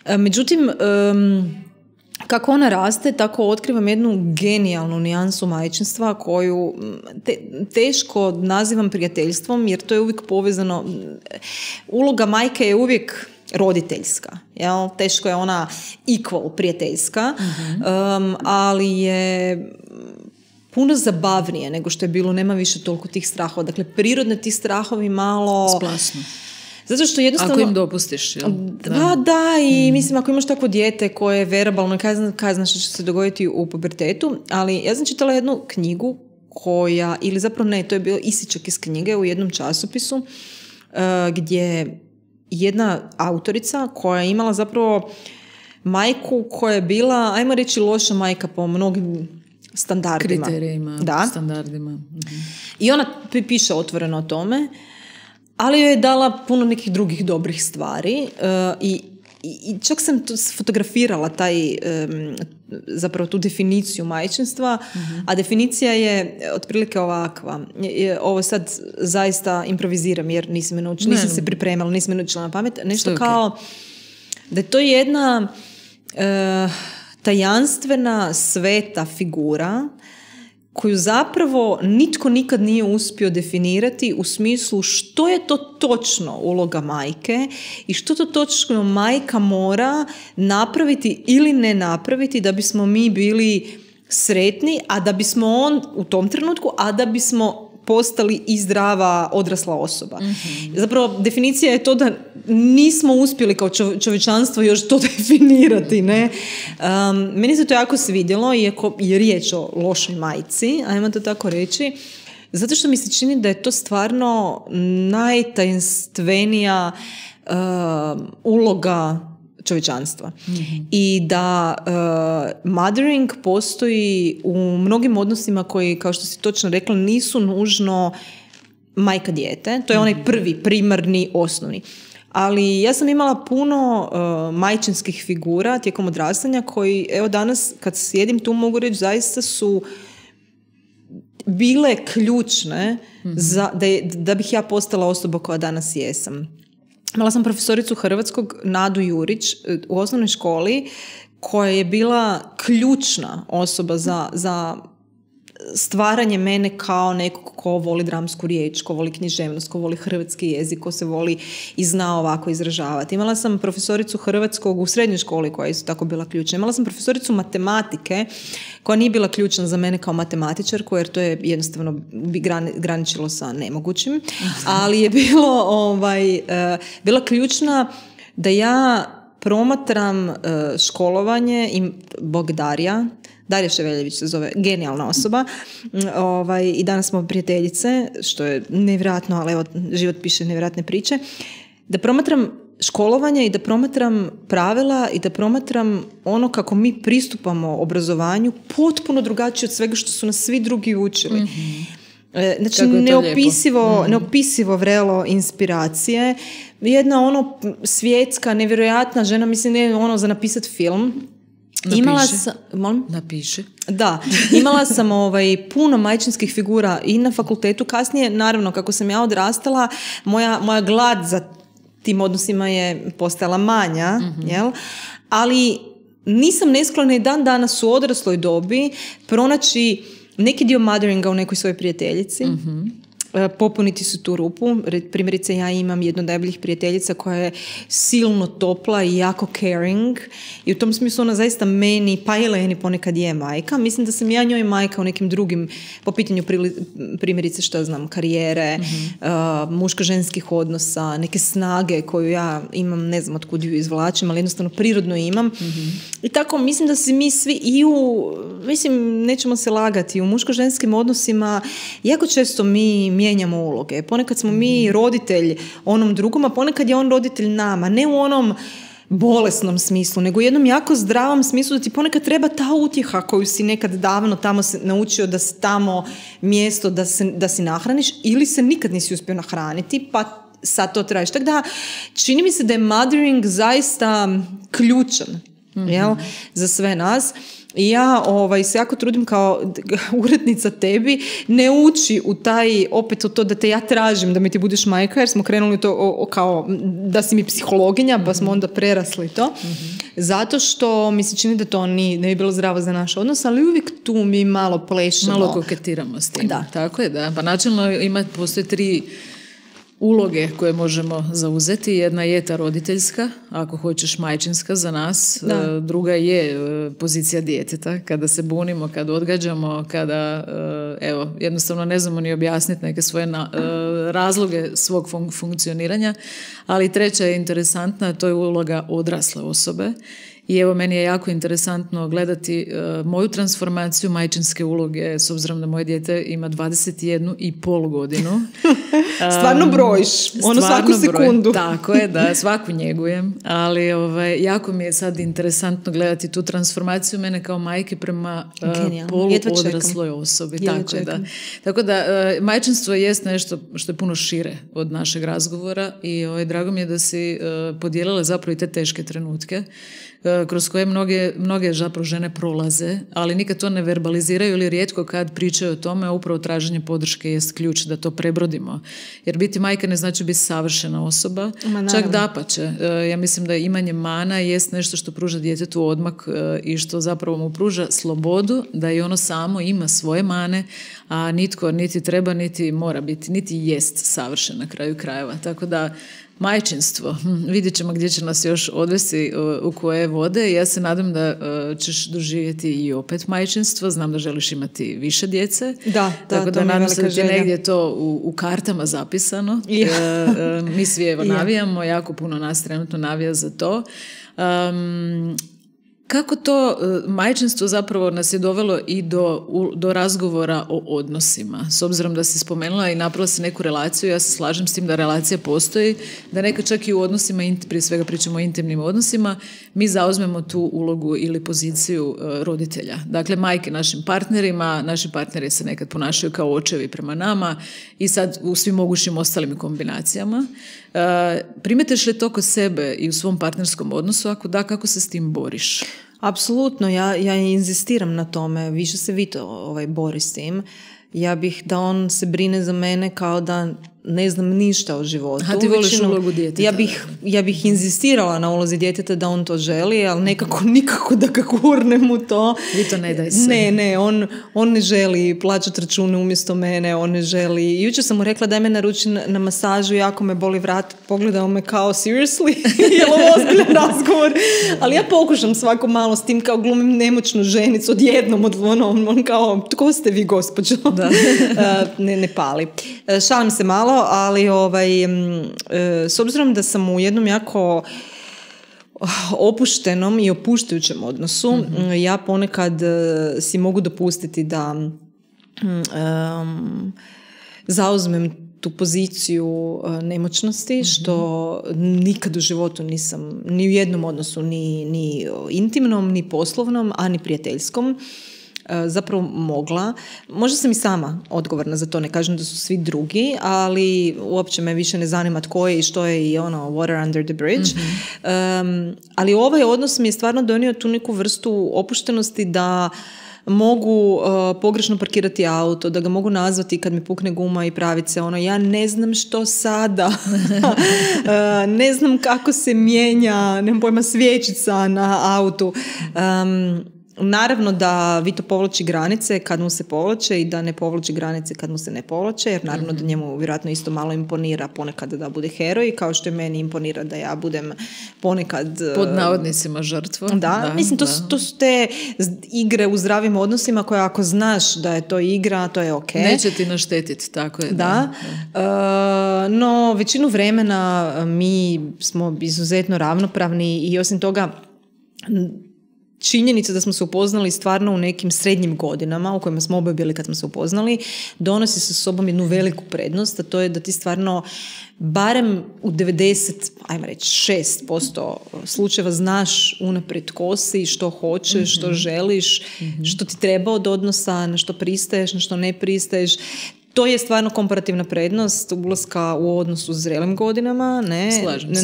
E, međutim, um, kako ona raste, tako otkrivam jednu genijalnu nijansu majčinstva koju te, teško nazivam prijateljstvom, jer to je uvijek povezano. Uloga majke je uvijek roditeljska, jel? Teško je ona equal prijateljska, mm-hmm. um, ali je puno zabavnije nego što je bilo, nema više toliko tih strahova. Dakle, prirodne ti strahovi malo splasno. Zato što jednostavno... Ako im dopustiš, jel? Da, da, da i mm. mislim, ako imaš takvo dijete koje je verbalno, kaj znaš što će se dogoditi u pubertetu, ali ja sam čitala jednu knjigu koja, ili zapravo ne, to je bio isičak iz knjige u jednom časopisu, uh, gdje jedna autorica koja je imala zapravo majku koja je bila, ajmo reći, loša majka po mnogim standardima. Kriterijima, da. standardima. Mhm. I ona piše otvoreno o tome, ali joj je dala puno nekih drugih dobrih stvari uh, i, i čak sam to fotografirala taj, um, zapravo tu definiciju majčinstva, mm-hmm. a definicija je otprilike ovakva. Je, ovo sad zaista improviziram jer nisam, me naučila, nisam se pripremala, nisam me naučila na pamet. Nešto okay. kao da je to jedna uh, tajanstvena, sveta figura koju zapravo nitko nikad nije uspio definirati u smislu što je to točno uloga majke i što to točno majka mora napraviti ili ne napraviti da bismo mi bili sretni, a da bismo on u tom trenutku, a da bismo postali i zdrava odrasla osoba. Mm-hmm. Zapravo, definicija je to da nismo uspjeli kao čovječanstvo još to definirati, ne? Um, meni se to jako svidjelo, iako je riječ o lošoj majci, ajmo to tako reći, zato što mi se čini da je to stvarno najtajenstvenija uh, uloga čovječanstva. Mm-hmm. I da uh, mothering postoji u mnogim odnosima koji, kao što si točno rekla, nisu nužno majka dijete. To je onaj prvi, primarni, osnovni. Ali ja sam imala puno uh, majčinskih figura tijekom odrastanja koji, evo danas kad sjedim tu mogu reći, zaista su bile ključne mm-hmm. za, da, je, da bih ja postala osoba koja danas jesam. Imala sam profesoricu hrvatskog, Nadu Jurić, u osnovnoj školi, koja je bila ključna osoba za, za stvaranje mene kao nekog ko voli dramsku riječ, ko voli književnost, ko voli hrvatski jezik, ko se voli i zna ovako izražavati. Imala sam profesoricu hrvatskog u srednjoj školi koja je isto tako bila ključna. Imala sam profesoricu matematike koja nije bila ključna za mene kao matematičarku, jer to je jednostavno bi graničilo sa nemogućim, ali je bilo ovaj, uh, bila ključna da ja promatram uh, školovanje i Bog Darija, Darija Ševeljević se zove, genijalna osoba, ovaj, i danas smo prijateljice, što je nevjerojatno, ali evo, život piše nevjerojatne priče, da promatram školovanje i da promatram pravila i da promatram ono kako mi pristupamo obrazovanju potpuno drugačije od svega što su nas svi drugi učili. Mm-hmm. Znači, neopisivo, mm. neopisivo vrelo inspiracije. Jedna ono svjetska, nevjerojatna žena, mislim, ne ono za napisati film. Napiši. Imala sam, molim? Napiši. Da, imala sam ovaj, puno majčinskih figura i na fakultetu. Kasnije, naravno, kako sam ja odrastala, moja, moja glad za tim odnosima je postajala manja, mm-hmm. jel? Ali nisam nesklona i dan danas u odrasloj dobi pronaći neki dio motheringa u nekoj svojoj prijateljici. Mm-hmm. Popuniti su tu rupu. Primjerice, ja imam jednu od najboljih prijateljica koja je silno topla i jako caring i u tom smislu ona zaista meni, pa i Leni ponekad je majka. Mislim da sam ja njoj majka u nekim drugim, po pitanju primjerice, što znam, karijere, mm-hmm. uh, muško-ženskih odnosa, neke snage koju ja imam, ne znam otkud ju izvlačim, ali jednostavno prirodno imam. Mm-hmm. I tako mislim da se mi svi i u, mislim, nećemo se lagati, u muško-ženskim odnosima jako često mi mijenjamo uloge. Ponekad smo mi roditelj onom drugom, a ponekad je on roditelj nama. Ne u onom bolesnom smislu, nego u jednom jako zdravom smislu da ti ponekad treba ta utjeha koju si nekad davno tamo se naučio da si tamo mjesto da, se, da si nahraniš ili se nikad nisi uspio nahraniti, pa sad to tražiš. Tako da čini mi se da je mothering zaista ključan, mm-hmm. jel, za sve nas. I ja ovaj, se jako trudim kao urednica tebi ne ući u taj, opet u to da te ja tražim da mi ti budeš majka, jer smo krenuli to o, o, kao da si mi psihologinja, pa smo onda prerasli to. Mm-hmm. Zato što mi se čini da to ni, ne bi bilo zdravo za naš odnos, ali uvijek tu mi malo plešemo. Malo koketiramo s tim. Da. Tako je, da. Pa načelno ima, postoje tri uloge koje možemo zauzeti. Jedna je ta roditeljska, ako hoćeš majčinska za nas. Da. Druga je pozicija djeteta, kada se bunimo, kada odgađamo, kada evo, jednostavno ne znamo ni objasniti neke svoje na, razloge svog fun- funkcioniranja. Ali treća je interesantna, to je uloga odrasle osobe. I evo, meni je jako interesantno gledati uh, moju transformaciju majčinske uloge, s obzirom da moje dijete ima dvadeset jednu i pol godinu. Stvarno brojiš, ono svaku sekundu. Broj, tako je, da, svaku njegujem, ali ovaj, jako mi je sad interesantno gledati tu transformaciju mene kao majke prema uh, polu odrasloj osobi. Tako, je, da. Tako da, uh, majčinstvo jest nešto što je puno šire od našeg razgovora i ovaj, drago mi je da si uh, podijelila zapravo i te teške trenutke kroz koje mnoge, mnoge zapravo žene prolaze, ali nikad to ne verbaliziraju ili rijetko kad pričaju o tome, upravo traženje podrške jest ključ da to prebrodimo. Jer biti majka ne znači biti savršena osoba, čak dapače. Ja mislim da imanje mana jest nešto što pruža djetetu odmak i što zapravo mu pruža slobodu da i ono samo ima svoje mane, a nitko niti treba, niti mora biti, niti jest savršen na kraju krajeva. Tako da majčinstvo, hm, vidjet ćemo gdje će nas još odvesti u, u koje vode. Ja se nadam da uh, ćeš doživjeti i opet majčinstvo. Znam da želiš imati više djece. Da, da, tako da nadam se da ti negdje to u, u kartama zapisano. Ja. Uh, uh, mi svi evo navijamo, jako puno nas trenutno navija za to. Um, Kako to majčinstvo zapravo nas je dovelo i do, do razgovora o odnosima? S obzirom da si spomenula i napravila si neku relaciju, ja se slažem s tim da relacija postoji, da neka čak i u odnosima, prije svega pričamo o intimnim odnosima, mi zauzmemo tu ulogu ili poziciju roditelja. Dakle, majke našim partnerima, naši partneri se nekad ponašaju kao očevi prema nama i sad u svim mogućim ostalim kombinacijama. Primetiš li to kod sebe i u svom partnerskom odnosu? Ako da, kako se s tim boriš? Apsolutno, ja, ja inzistiram na tome, više se Vito ovaj, bori s tim. Ja bih da on se brine za mene kao da ne znam ništa o životu. A ti voliš ulogu djeteta. Ja bih, ja bih inzistirala na ulozi djeteta da on to želi, ali nekako nikako da ga gurnem u to. Vi to ne daj se. Ne, ne, on, on ne želi plaćati račune umjesto mene, on ne želi. Jučer sam mu rekla daj me naruči na, na masažu, jako me boli vrat, pogledao me kao seriously, je li ovo ozbiljan razgovor? Ali ja pokušam svako malo s tim kao glumim nemoćnu ženicu odjednom od ono, on kao, tko ste vi gospođo? Da. ne, ne pali. Šalim se malo, ali ovaj, s obzirom da sam u jednom jako opuštenom i opuštajućem odnosu, mm-hmm. ja ponekad si mogu dopustiti da um, zauzmem tu poziciju nemoćnosti, mm-hmm. što nikad u životu nisam ni u jednom odnosu, ni, ni intimnom, ni poslovnom, a ni prijateljskom zapravo mogla. Možda sam i sama odgovorna za to, ne kažem da su svi drugi, ali uopće me više ne zanima tko je i što je i ono water under the bridge. Mm-hmm. Um, ali ovaj odnos mi je stvarno donio tu neku vrstu opuštenosti da mogu uh, pogrešno parkirati auto, da ga mogu nazvati kad mi pukne guma i praviti se ono, ja ne znam što sada, uh, ne znam kako se mijenja, nemam pojma, svječica na autu. Um, Naravno da Vito povlači granice kad mu se povlače i da ne povlači granice kad mu se ne povlače, jer naravno mm-hmm. da njemu vjerojatno isto malo imponira ponekad da bude heroj, kao što je meni imponira da ja budem ponekad... Pod navodnicima žrtva. Da, da mislim, to, da. to su te igre u zdravim odnosima koje ako znaš da je to igra, to je ok. Neće ti naštetiti, tako je. Da, da. Uh, no većinu vremena mi smo izuzetno ravnopravni i osim toga... Činjenica da smo se upoznali stvarno u nekim srednjim godinama u kojima smo oboje bili kad smo se upoznali, donosi sa sobom jednu veliku prednost, a to je da ti stvarno barem u devedeset, ajmo reći šest posto slučajeva znaš unaprijed tko si, što hoćeš, mm-hmm. što želiš, mm-hmm. što ti treba od odnosa, na što pristaješ, na što ne pristaješ. To je stvarno komparativna prednost ulaska u odnosu s zrelim godinama, ne,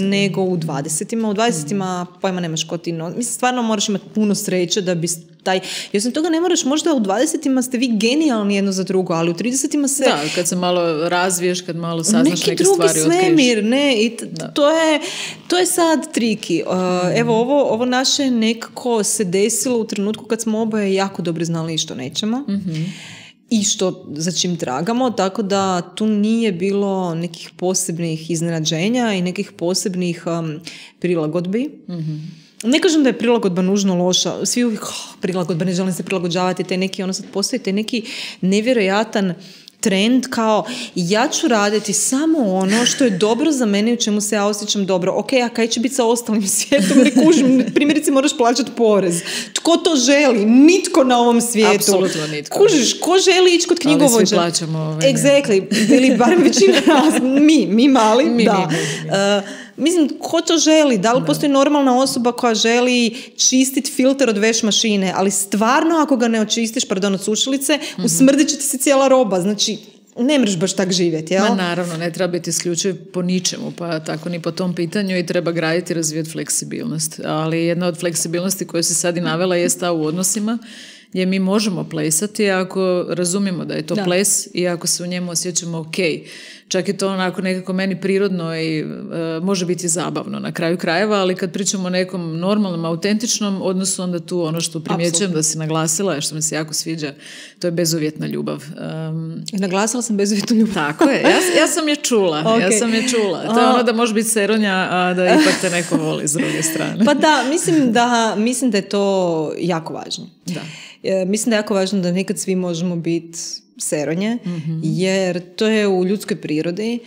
nego u dvadesetima. U dvadesetima mm. pojma nemaš ko ti no... Mislim, stvarno moraš imati puno sreće da bi taj... I osim toga ne moraš, možda u dvadesetima ste vi genijalni jedno za drugo, ali u tridesetima se... Da, kad se malo razviješ, kad malo saznaš neke stvari, otkriješ. Neki drugi svemir, ne, i t- to, je, to je sad triki. Uh, mm. Evo, ovo, ovo naše nekako se desilo u trenutku kad smo oboje jako dobro znali što nećemo. Mm-hmm. I što za čim tragamo, tako da tu nije bilo nekih posebnih iznenađenja i nekih posebnih um, prilagodbi. Mm-hmm. Ne kažem da je prilagodba nužno loša, svi uvijek oh, prilagodba, ne želim se prilagođavati, te neki, ono sad postoji te neki nevjerojatan trend kao ja ću raditi samo ono što je dobro za mene i u čemu se ja osjećam dobro. Ok, a kaj će biti sa ostalim svijetom? Ne kužim, primjerice moraš plaćati porez. Tko to želi? Nitko na ovom svijetu. Apsolutno nitko. Kužiš, ko želi ići kod knjigovođa? Ali svi plaćamo ove. Exactly. Ili barem većina nas. Mi, mi mali. Mi, da. mi, mi, mi. Uh, Mislim, ko to želi? Da li da. Postoji normalna osoba koja želi čistiti filter od veš mašine, ali stvarno ako ga ne očistiš, pardon, od sušilice, mm-hmm. usmrdit će ti se cijela roba. Znači, ne mreš baš tak živjeti, jel? Ma naravno, ne treba biti isključiv po ničemu, pa tako ni po tom pitanju i treba graditi i razvijati fleksibilnost. Ali jedna od fleksibilnosti koju si sad i navela je ta u odnosima, gdje mi možemo plesati ako razumijemo da je to da. Ples i ako se u njemu osjećamo ok. Čak je to onako nekako meni prirodno i e, može biti zabavno na kraju krajeva, ali kad pričamo o nekom normalnom, autentičnom odnosu, onda tu ono što primjećujem Absolutno. Da si naglasila, što mi se jako sviđa, to je bezuvjetna ljubav. Um, naglasila sam bezuvjetnu ljubav. Tako je, ja, ja sam je čula, okay. ja sam je čula. To je ono da može biti seronja, a da ipak te neko voli s druge strane. Pa da, mislim da, mislim da je to jako važno. Da. E, mislim da je jako važno da nekad svi možemo biti seronje, mm-hmm. jer to je u ljudskoj prirodi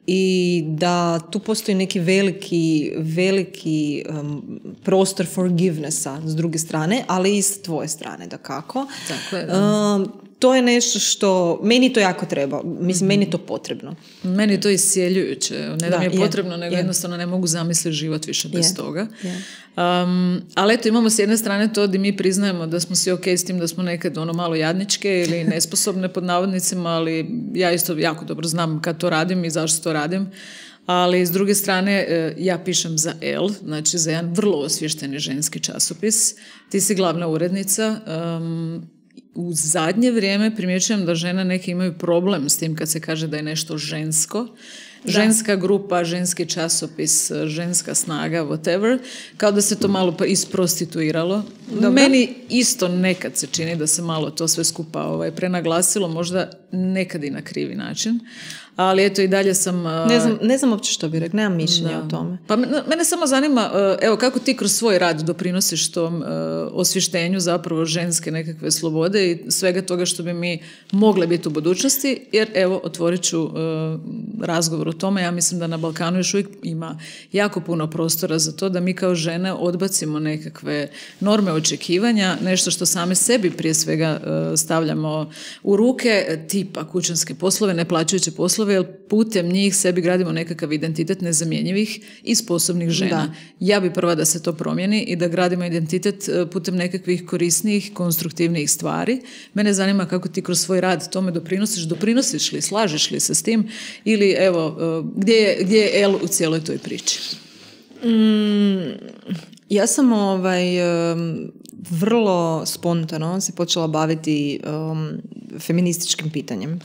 i da tu postoji neki veliki, veliki um, prostor forgivenessa s druge strane, ali i s tvoje strane, dakako. Tako je, da. Um, to je nešto što, meni to jako treba, mislim, mm-hmm. meni je to potrebno. Meni je to isjeljujuće, ne da, da mi je, je potrebno, nego je. Jednostavno ne mogu zamisliti život više bez je. Toga. Je. Um, ali eto, imamo s jedne strane to da mi priznajemo da smo svi ok s tim da smo nekad ono malo jadničke ili nesposobne pod navodnicima, ali ja isto jako dobro znam kad to radim i zašto to radim. Ali s druge strane ja pišem za Elle, znači za jedan vrlo osvješteni ženski časopis. Ti si glavna urednica. Um, u zadnje vrijeme primjećujem da žene neki imaju problem s tim kad se kaže da je nešto žensko. Ženska da. grupa, ženski časopis, ženska snaga, whatever, kao da se to malo isprostituiralo. Dobro. Meni isto nekad se čini da se malo to sve skupa ovaj, prenaglasilo, možda nekad i na krivi način. Ali eto i dalje sam... Ne znam, ne znam uopće što bi rekla, nemam mišljenja o tome. Pa mene samo zanima, evo kako ti kroz svoj rad doprinosiš tom osvještenju zapravo ženske nekakve slobode i svega toga što bi mi mogle biti u budućnosti, jer evo otvorit ću razgovor o tome. Ja mislim da na Balkanu još uvijek ima jako puno prostora za to da mi kao žene odbacimo nekakve norme očekivanja, nešto što same sebi prije svega stavljamo u ruke, tipa kućanske poslove, neplaćujuće poslove, jer putem njih sebi gradimo nekakav identitet nezamjenjivih i sposobnih žena. Da. Ja bi prva da se to promijeni i da gradimo identitet putem nekakvih korisnijih, konstruktivnijih stvari. Mene zanima kako ti kroz svoj rad tome doprinosiš, doprinosiš li, slažeš li se s tim ili evo, gdje je, gdje je El u cijeloj toj priči? Mm, ja sam ovaj, vrlo spontano se počela baviti um, feminističkim pitanjem.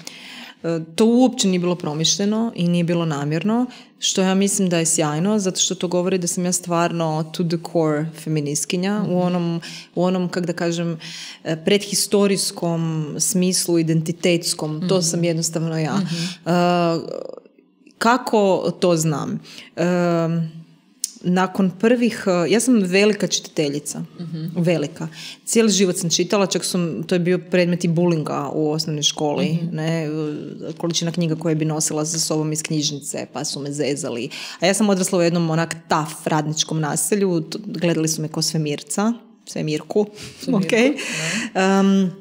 To uopće nije bilo promišljeno i nije bilo namjerno, što ja mislim da je sjajno, zato što to govori da sam ja stvarno to the core feministkinja, mm-hmm. u onom, u onom, kako da kažem, predhistorijskom smislu, identitetskom, mm-hmm. to sam jednostavno ja. Mm-hmm. Uh, kako to znam? Uh, Nakon prvih, ja sam velika čitateljica, uh-huh. velika. Cijeli život sam čitala, čak sam, to je bio predmet i bulinga u osnovnoj školi, uh-huh. ne, količina knjiga koje bi nosila za sobom iz knjižnice, pa su me zezali. A ja sam odrasla u jednom onak taf radničkom naselju, gledali su me ko svemirca, svemirku, svemirku ok. Um,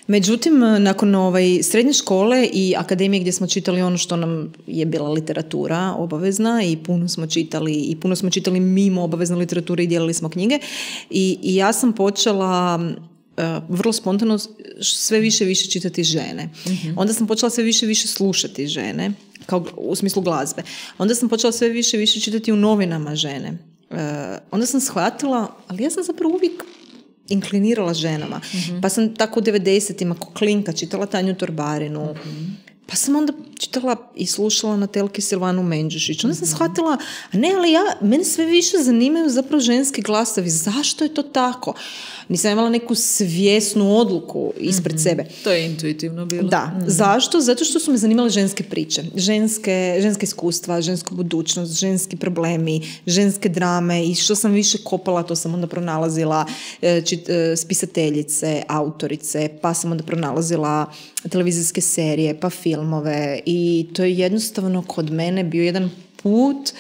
Međutim, nakon ovaj, srednje škole i akademije gdje smo čitali ono što nam je bila literatura obavezna i puno smo čitali i puno smo čitali mimo obavezne literature i dijelili smo knjige i, i ja sam počela uh, vrlo spontano sve više više čitati žene. Mm-hmm. Onda sam počela sve više više slušati žene, kao u smislu glazbe. Onda sam počela sve više više čitati u novinama žene. Uh, onda sam shvatila, ali ja sam zapravo uvijek inklinirala ženama. Mm-hmm. Pa sam tako u devedesetima ko klinka čitala Tanju Torbarinu. Mm-hmm. Pa sam onda čitala i slušala na telki Silvanu Menđušić. Onda sam mm-hmm. shvatila, a ne, ali ja, mene sve više zanimaju zapravo ženski glasovi. Zašto je to tako? Nisam imala neku svjesnu odluku ispred mm-hmm. sebe. To je intuitivno bilo. Da. Mm-hmm. Zašto? Zato što su me zanimale ženske priče. Ženske, ženske iskustva, ženska budućnost, ženski problemi, ženske drame i što sam više kopala, to sam onda pronalazila čit, spisateljice, autorice, pa sam onda pronalazila televizijske serije, pa filmove i to je jednostavno kod mene bio jedan put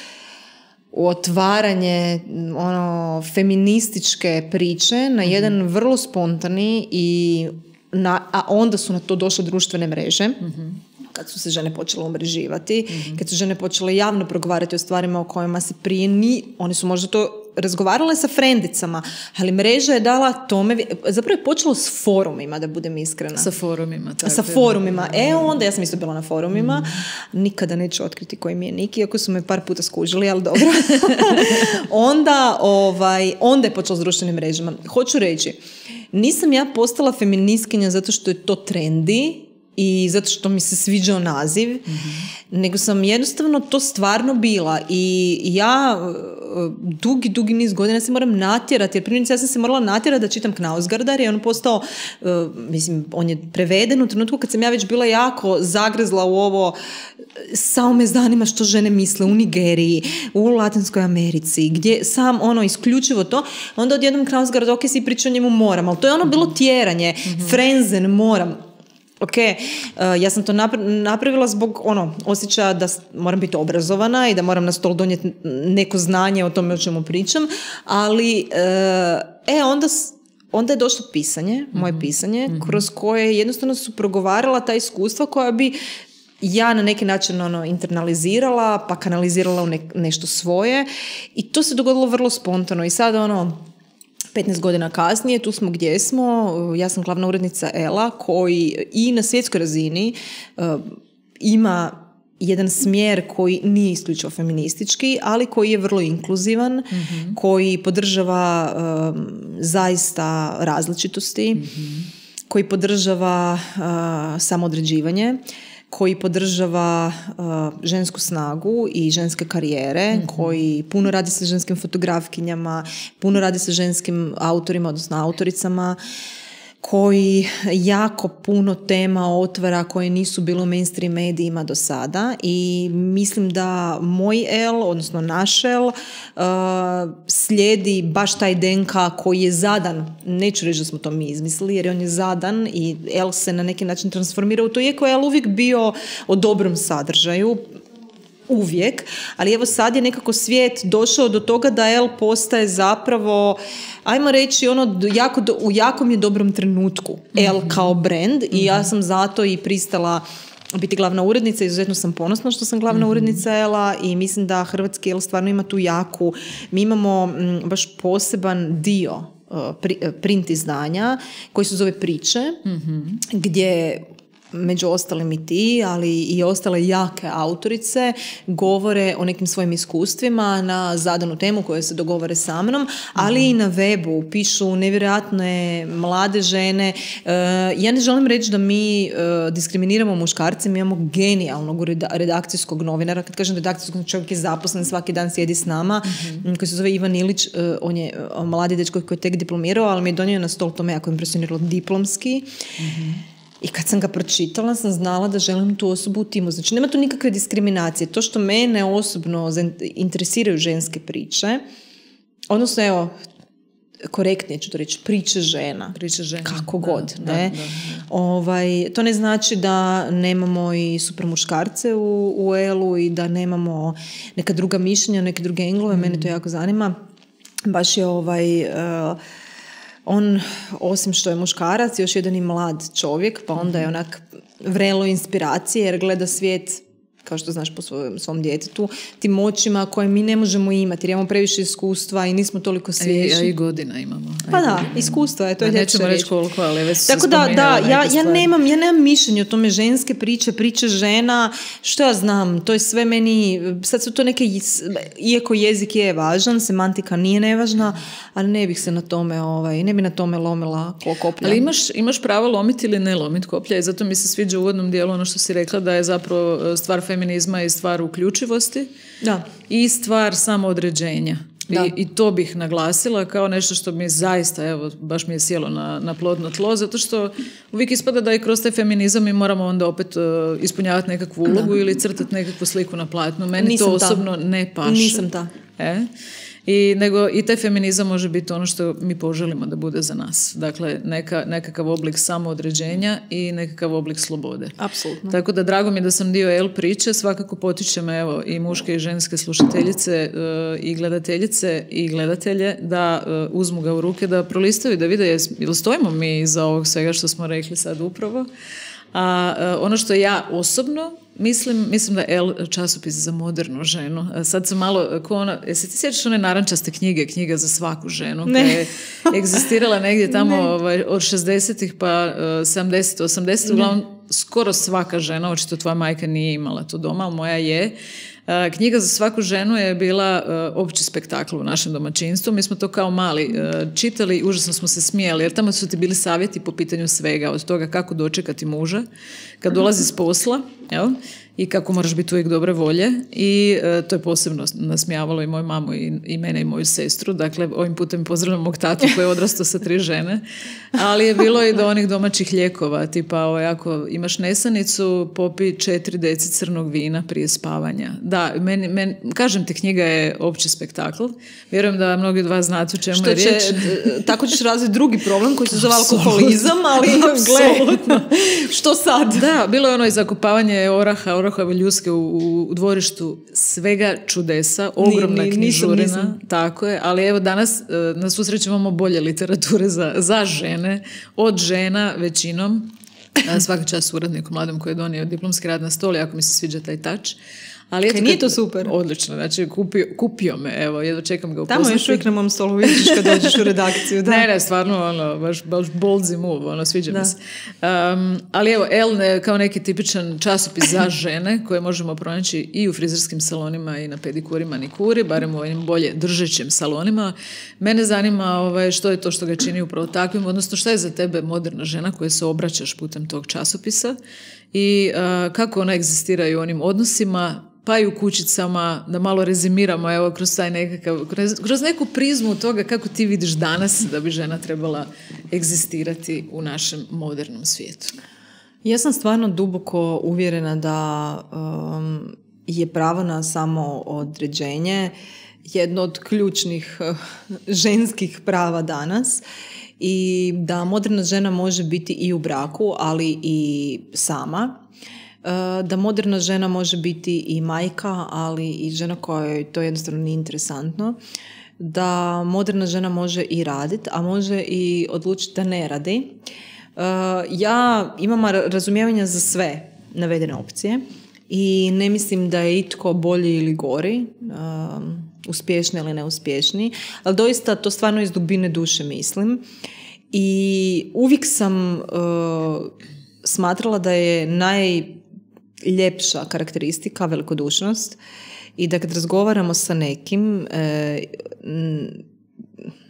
u otvaranje ono, feminističke priče na jedan mm-hmm. vrlo spontani i na, a onda su na to došle društvene mreže. Mm-hmm. Kad su se žene počele umreživati, mm-hmm. kad su žene počele javno progovarati o stvarima o kojima se prije ni, one su možda to razgovarale sa frendicama, ali mreža je dala tome, zapravo je počelo s forumima, da budem iskrena. Sa forumima. Tako sa forumima. E onda, ja sam isto bila na forumima, mm. nikada neću otkriti koji mi je nik, iako su me par puta skužili, ali dobro. onda, ovaj, onda je počelo s društvenim mrežama. Hoću reći, nisam ja postala feministkinja zato što je to trendi, i zato što mi se sviđao naziv, mm-hmm. nego sam jednostavno to stvarno bila i ja dugi, dugi niz godina se moram natjerati, jer primjerice ja sam se morala natjerati da čitam Knausgardar i on postao, uh, mislim, on je preveden u trenutku kad sam ja već bila jako zagrezla u ovo, samo me zanima što žene misle u Nigeriji, u Latinskoj Americi, gdje sam ono isključivo to, onda odjednom Knausgard, ok, si priča o njemu moram, ali to je ono bilo tjeranje, mm-hmm. frenzen, moram. Ok, uh, ja sam to napravila zbog ono, osjećaja da moram biti obrazovana i da moram na stol donijeti neko znanje o tome o čemu pričam, ali uh, e, onda, onda je došlo pisanje, moje mm-hmm. pisanje, mm-hmm. kroz koje jednostavno su progovarala ta iskustva koja bi ja na neki način ono, internalizirala, pa kanalizirala u ne, nešto svoje i to se dogodilo vrlo spontano i sad ono, petnaest godina kasnije, tu smo gdje smo, ja sam glavna urednica Ela koji i na svjetskoj razini uh, ima jedan smjer koji nije isključivo feministički, ali koji je vrlo inkluzivan, mm-hmm. koji podržava um, zaista različitosti, mm-hmm. koji podržava uh, samoodređivanje, koji podržava uh, žensku snagu i ženske karijere, mm-hmm. koji puno radi sa ženskim fotografkinjama, puno radi sa ženskim autorima, odnosno autoricama, koji jako puno tema otvara koje nisu bilo u mainstream medijima do sada i mislim da moj L, odnosno naš L, uh, slijedi baš taj D N K koji je zadan, neću reći da smo to mi izmislili jer on je zadan i L se na neki način transformira u to, iako je L uvijek bio o dobrom sadržaju, uvijek, ali evo sad je nekako svijet došao do toga da L postaje zapravo, ajmo reći, ono jako, u jakom je dobrom trenutku L kao brand i ja sam zato i pristala biti glavna urednica, izuzetno sam ponosna što sam glavna mm-hmm. urednica L-a i mislim da hrvatski L stvarno ima tu jaku, mi imamo m, baš poseban dio uh, pri, uh, print izdanja koji se zove Priče, mm-hmm. gdje među ostalim i ti, ali i ostale jake autorice govore o nekim svojim iskustvima na zadanu temu koje se dogovore sa mnom, ali mm. i na webu pišu nevjerojatne mlade žene. Uh, ja ne želim reći da mi uh, diskriminiramo muškarce, mi imamo genijalnog redakcijskog novinara. Kad kažem redakcijskog, čovjek je zaposlen, svaki dan sjedi s nama, mm-hmm. koji se zove Ivan Ilić, uh, on je uh, mladi dečko koji je tek diplomirao, ali mi je donio na stol, to me jako impresioniralo, diplomski. Mm-hmm. I kad sam ga pročitala, sam znala da želim tu osobu u timu. Znači, nema tu nikakve diskriminacije. To što mene osobno interesiraju ženske priče, odnosno, evo, korektnije ću to reći, priče žena. Priče žena. Kako god. Da, ne? Da, da, da. Ovaj, to ne znači da nemamo i super muškarce u, u L-u i da nemamo neka druga mišljenja, neke druge englove. Mm. Mene to jako zanima. Baš je ovaj... Uh, on, osim što je muškarac, još jedan i mlad čovjek, pa onda je onak vrelo inspiracije jer gleda svijet, kao što znaš, po svojom, svom djetetu, tim očima koje mi ne možemo imati jer imamo previše iskustva i nismo toliko svježi. A i, a i godina imamo. A pa da, iskustva je, to je nećemo reći koliko, ali već tako da, da, ja, ja, nemam, ja nemam mišljenje o tome, ženske priče, priče žena, što ja znam, to je sve meni, sad su to neke, iako jezik je važan, semantika nije nevažna, ali ne bih se na tome, ovaj, ne bi na tome lomila koplja. Ali imaš, imaš pravo lomiti ili ne lomiti koplja i zato mi se sviđa u uvodnom dijelu ono što si rekla da je zapravo stvar feminizma i stvar uključivosti da. I stvar samoodređenja. I, I to bih naglasila kao nešto što mi zaista, evo, baš mi je sjelo na, na plodno tlo, zato što uvijek ispada da i kroz taj feminizam mi moramo onda opet uh, ispunjavati nekakvu ulogu da. Ili crtati nekakvu sliku na platnu. Meni Nisam to osobno ta. ne paše. Nisam ta. E? I, nego, i taj feminizam može biti ono što mi poželimo da bude za nas. Dakle, neka, nekakav oblik samoodređenja i nekakav oblik slobode. Apsolutno. Tako da drago mi je da sam dio L priče, svakako potičem evo, i muške i ženske slušateljice uh, i gledateljice i gledatelje da uh, uzmu ga u ruke, da prolistaju, da vide jel stojimo mi iza ovog svega što smo rekli sad upravo. A uh, ono što ja osobno Mislim, mislim da je L časopis za modernu ženu. Sad sam malo, ko ona, jesi ti sjećaš one narančaste knjige, knjiga za svaku ženu, koja je egzistirala negdje tamo ovaj, od šezdesetih pa uh, sedamdeset, osamdeset, uglavnom skoro svaka žena, očito tvoja majka nije imala to doma, ali moja je. Uh, knjiga za svaku ženu je bila uh, opći spektakl u našem domaćinstvu. Mi smo to kao mali uh, čitali i užasno smo se smijali, jer tamo su ti bili savjeti po pitanju svega, od toga kako dočekati muža, kad dolazi s posla, jel? I kako moraš biti uvijek dobre volje i e, to je posebno nasmijavalo i moju mamu i, i mene i moju sestru. Dakle, ovim putem pozdravljam mog tatu koji je odrastao sa tri žene, ali je bilo i do onih domaćih lijekova, tipa ovaj, ako imaš nesanicu, popi četiri deci crnog vina prije spavanja. Da, meni, meni, kažem ti, knjiga je opći spektakl. Vjerujem da mnogi od vas znate o čemu Što je će, riječ. Tako ćeš razviti drugi problem koji se zove alkoholizam, ali gle, što sad? Da, bilo je ono i zakopavanje oraha, orahove ljuske u, u dvorištu, svega čudesa, ogromna ni, ni, knjižurina, nisam, nisam. Tako je, ali evo danas na svu sreću imamo bolje literature za, za žene, od žena većinom, svaka čast uredniku mladom koji je donio diplomski rad na stol, jako mi se sviđa taj touch, Ali eto, e, nije to super? Odlično, znači kupio, kupio me, evo, jedno čekam ga upoznati. Tamo još uvijek na mom stolu vidiš kad dođeš u redakciju. Da. Ne, ne, stvarno, ono, baš, baš ballsy move, ono, sviđa mi se. Um, ali evo, Elle kao neki tipičan časopis za žene koje možemo pronaći i u frizerskim salonima i na pedikuri, manikuri, barem u ovim bolje držećim salonima. Mene zanima ovaj, što je to što ga čini upravo takvim, odnosno šta je za tebe moderna žena koja se obraćaš putem tog časopisa i uh, kako ona egzistira i u onim odnosima, pa i u kućicama, da malo rezimiramo evo, kroz, taj nekakav, kroz, kroz neku prizmu toga kako ti vidiš danas da bi žena trebala egzistirati u našem modernom svijetu. Ja sam stvarno duboko uvjerena da um, je pravo na samo određenje jedno od ključnih uh, ženskih prava danas i da moderna žena može biti i u braku, ali i sama. Da moderna žena može biti i majka, ali i žena kojoj to jednostavno nije interesantno. Da moderna žena može i raditi, a može i odlučiti da ne radi. Ja imam razumijevanja za sve navedene opcije i ne mislim da je itko bolji ili gori, uspješni ili neuspješni, ali doista to stvarno iz dubine duše mislim. I uvijek sam smatrala da je naj ljepša karakteristika velikodušnost i da kad razgovaramo sa nekim e,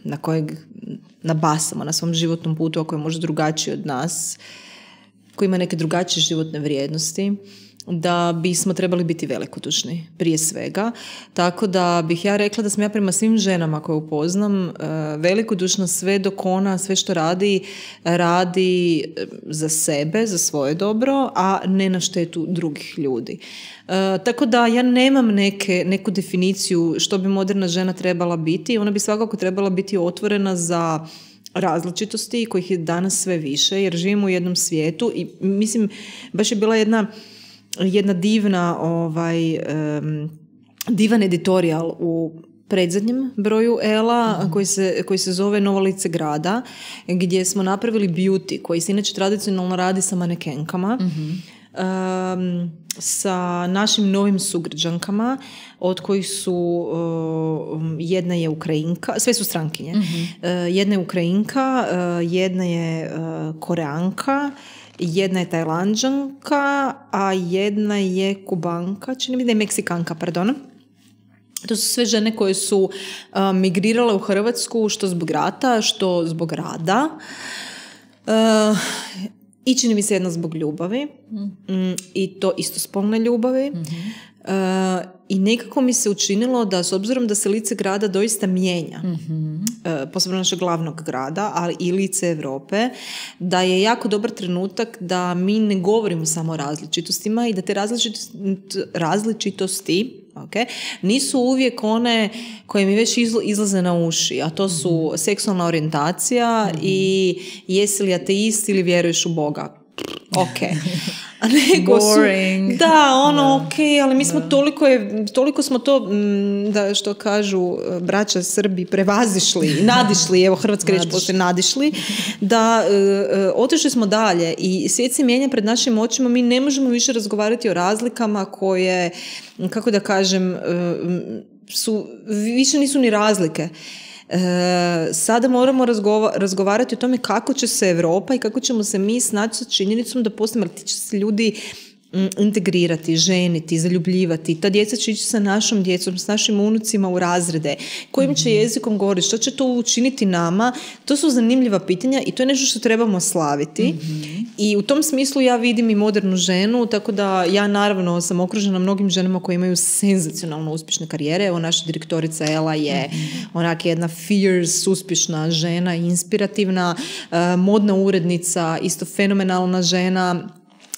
na kojeg nabasamo na svom životnom putu, a koji je možda drugačiji od nas, koji ima neke drugačije životne vrijednosti, da bismo trebali biti velikodušni prije svega. Tako da bih ja rekla da sam ja prema svim ženama koje upoznam velikodušna sve dok ona sve što radi, radi za sebe, za svoje dobro, a ne na štetu drugih ljudi. E, tako da ja nemam neke, neku definiciju što bi moderna žena trebala biti. Ona bi svakako trebala biti otvorena za različitosti kojih je danas sve više, jer živimo u jednom svijetu i mislim, baš je bila jedna jedna divna ovaj, um, divan editorijal u predzadnjem broju Ela mm. koji, se, koji se zove Novo lice grada, gdje smo napravili beauty koji se inače tradicionalno radi sa manekenkama, mm-hmm. um, sa našim novim sugrađankama od kojih su uh, jedna je Ukrajinka, sve su strankinje, mm-hmm. uh, jedna je Ukrajinka, uh, jedna je uh, Koreanka, jedna je Tajlanđanka, a jedna je Kubanka, čini mi da je Meksikanka, pardon. To su sve žene koje su uh, migrirale u Hrvatsku što zbog rata, što zbog rada. Uh, I čini mi se jedna zbog ljubavi. Mm, I to istospolne ljubavi. Mm-hmm. Uh, I nekako mi se učinilo da s obzirom da se lice grada doista mijenja, mm-hmm. uh, posebno našeg glavnog grada, ali i lice Europe, da je jako dobar trenutak da mi ne govorimo samo o različitostima i da te različitosti, različitosti okay, nisu uvijek one koje mi već izlaze na uši, a to su mm-hmm. seksualna orijentacija mm-hmm. i jesi li ateist ili vjeruješ u Boga. Ok. A nego su, da, ono, da. ok, ali mi smo da. toliko, je, toliko smo to, da što kažu braća Srbi, prevazišli, nadišli, evo hrvatska riječ poslije nadišli, da uh, otišli smo dalje i svijet se mijenja pred našim očima, mi ne možemo više razgovarati o razlikama koje, kako da kažem, uh, su, više nisu ni razlike. E, sada moramo razgova- razgovarati o tome kako će se Europa i kako ćemo se mi snaći sa činjenicom da poslije ti će se ljudi m, integrirati, ženiti, zaljubljivati. Ta djeca će ići sa našom djecom, s našim unucima u razrede. Kojim će jezikom govoriti? Što će to učiniti nama? To su zanimljiva pitanja i to je nešto što trebamo slaviti. Mm-hmm. I u tom smislu ja vidim i modernu ženu, tako da ja naravno sam okružena mnogim ženama koje imaju senzacionalno uspješne karijere. Evo naša direktorica Ela je mm-hmm. onak jedna fierce, uspješna žena, inspirativna, uh, modna urednica, isto fenomenalna žena.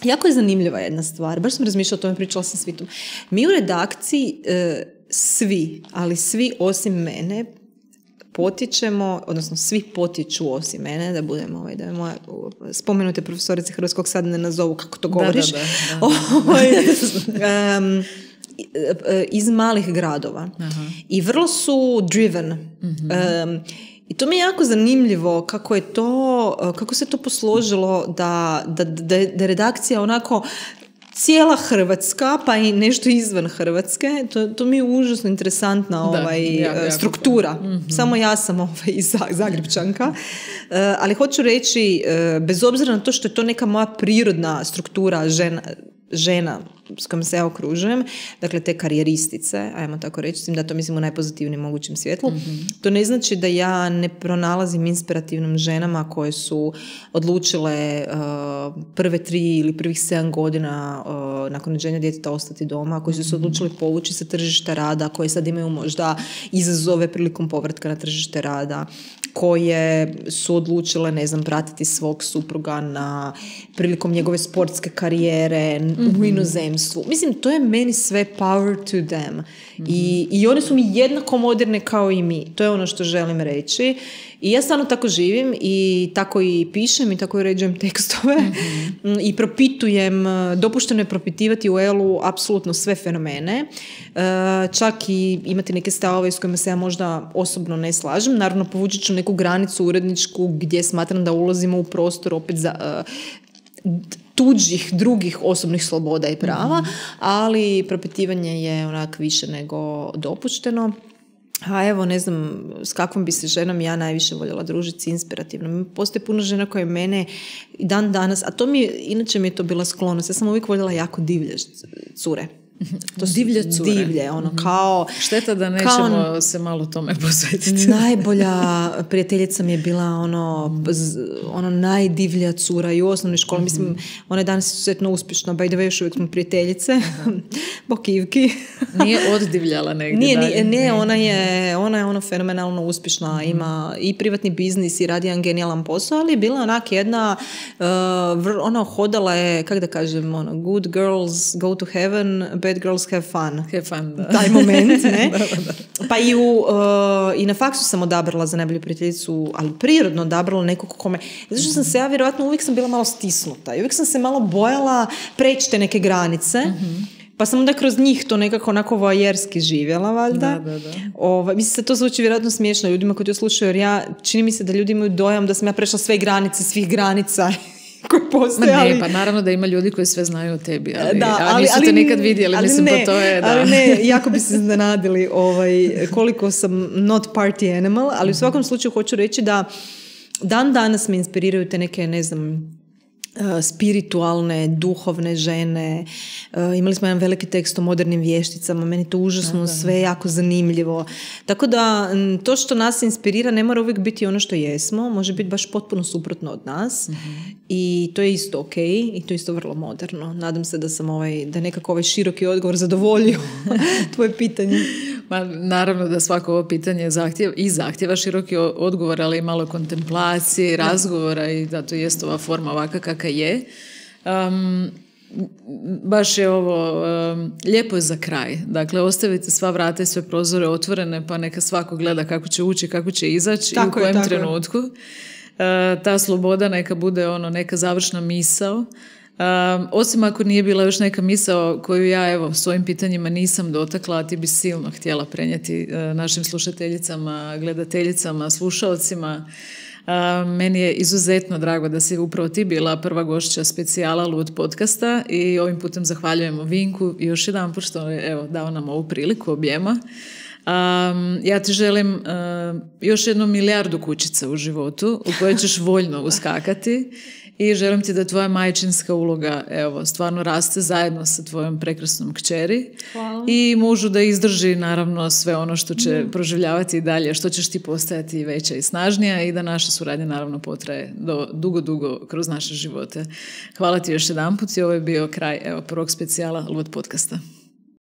Jako je zanimljiva jedna stvar, baš sam razmišljala o tome, pričala sam s Vitom. Mi u redakciji e, svi, ali svi osim mene potječemo, odnosno svi potječu osim mene, da budemo, ovaj, da je moja spomenute profesorice hrvatskog sad ne nazovu kako to govoriš, da, da, da, da. um, iz malih gradova. Aha. I vrlo su driven. Mm-hmm. Um, I to mi je jako zanimljivo kako je to, kako se to posložilo da, da, da, da redakcija onako cijela Hrvatska, pa i nešto izvan Hrvatske, to, to mi je užasno interesantna ovaj, da, jako, jako struktura. Mm-hmm. Samo ja sam ovaj, iz Zagrepčanka. Uh, ali hoću reći, uh, bez obzira na to što je to neka moja prirodna struktura žena, žena s kojom se ja okružujem, dakle te karijeristice, ajmo tako reći, da to mislim u najpozitivnijem mogućem svjetlu, mm-hmm. to ne znači da ja ne pronalazim inspirativnim ženama koje su odlučile uh, prve tri ili prvih sedam godina uh, nakon rođenja djeteta ostati doma, koji su se odlučili povući sa tržišta rada, koje sad imaju možda izazove prilikom povratka na tržište rada, koje su odlučile, ne znam, pratiti svog supruga na prilikom njegove sportske karijere mm-hmm. u inozemstvu. Mislim, to je meni sve power to them. Mm-hmm. I, i one su mi jednako moderne kao i mi. To je ono što želim reći. I ja stvarno tako živim i tako i pišem i tako i uređujem tekstove mm-hmm. i propitujem, dopušteno je propitivati u Elu apsolutno sve fenomene, čak i imati neke stavove s kojima se ja možda osobno ne slažem. Naravno, povučit ću neku granicu uredničku gdje smatram da ulazimo u prostor opet za tuđih, drugih osobnih sloboda i prava, mm-hmm. ali propitivanje je onak više nego dopušteno. A evo, ne znam, s kakvom bi se ženom ja najviše voljela družiti, inspirativno. Postoje puno žena koje mene dan danas, a to mi, inače mi je to bila sklonost, ja sam uvijek voljela jako divlje cure. To divlje cure. Divlje, ono, kao... Šteta da nećemo kao, se malo tome posvetiti. Najbolja prijateljica mi je bila ono, ono najdivlja cura i u osnovnoj školi. Mm-hmm. Mislim, ona je danas izuzetno uspješna, by the way, još uvijek smo prijateljice. Bokivki. Nije oddivljala negdje nije, dalje. Nije, nije, ona je, ona je ono fenomenalno uspješna. Mm-hmm. Ima i privatni biznis i radi jedan genijalan posao, ali je bila onak jedna, uh, vr, ono, hodala je, kako da kažem, ono, good girls go to heaven, bad girls have fun. Have fun, da. Taj moment, ne? da, da, da. Pa i, u, uh, i na faksu sam odabrala za najbolju prijateljicu, ali prirodno odabrala nekog kome. Zato što sam se ja, vjerojatno, uvijek sam bila malo stisnuta i uvijek sam se malo bojala preći te neke granice. Mm-hmm. Pa sam onda kroz njih to nekako onako voajerski živjela, valjda. Da, da, da. Ova, mislim se to zvuči vjerojatno smiješno ljudima koji to slušaju, jer ja, čini mi se da ljudi imaju dojam da sam ja prešla sve granice, svih granica koji postoje. Ma ne, ali... pa naravno da ima ljudi koji sve znaju o tebi, ali, da, ali, ali nisu ali, te nikad vidjeli, ali mislim, ne, pa to je, da. Ali ne, jako bi se iznenadili ovaj, koliko sam not party animal, ali u svakom slučaju hoću reći da dan danas me inspiriraju te neke, ne znam, spiritualne, duhovne žene. Imali smo jedan veliki tekst o modernim vješticama, meni to užasno da, da. sve jako zanimljivo. Tako da to što nas inspirira ne mora uvijek biti ono što jesmo, može biti baš potpuno suprotno od nas mm-hmm. i to je isto ok i to je isto vrlo moderno. Nadam se da sam ovaj, da nekako ovaj široki odgovor zadovoljio tvoje pitanje. Ma, naravno da svako ovo pitanje zahtjeva, i zahtjeva široki odgovor, ali i malo kontemplacije, razgovora i da to jest ova forma ovaka kakva je. Um, baš je ovo um, lijepo je za kraj. Dakle, ostavite sva vrata i sve prozore otvorene, pa neka svako gleda kako će ući, kako će izaći i u kojem je, trenutku. Uh, ta sloboda neka bude ono neka završna misao. Um, osim ako nije bila još neka misao koju ja evo svojim pitanjima nisam dotakla, a ti bi silno htjela prenijeti uh, našim slušateljicama, gledateljicama, slušalcima. Uh, meni je izuzetno drago da si upravo ti bila prva gošća specijala Lud podcasta i ovim putem zahvaljujemo Vinku i još jedan put što je evo, dao nam ovu priliku objema. Um, ja ti želim uh, još jednu milijardu kućica u životu u koje ćeš voljno uskakati i želim ti da tvoja majčinska uloga evo, stvarno raste zajedno sa tvojom prekrasnom kćeri. Hvala. I mužu da izdrži naravno sve ono što će mm. proživljavati i dalje, što ćeš ti postajati veća i snažnija i da naša suradnja naravno potraje do dugo, dugo kroz naše živote. Hvala ti još jedanput i ovo je bio kraj evo, prvog specijala Lud podcasta.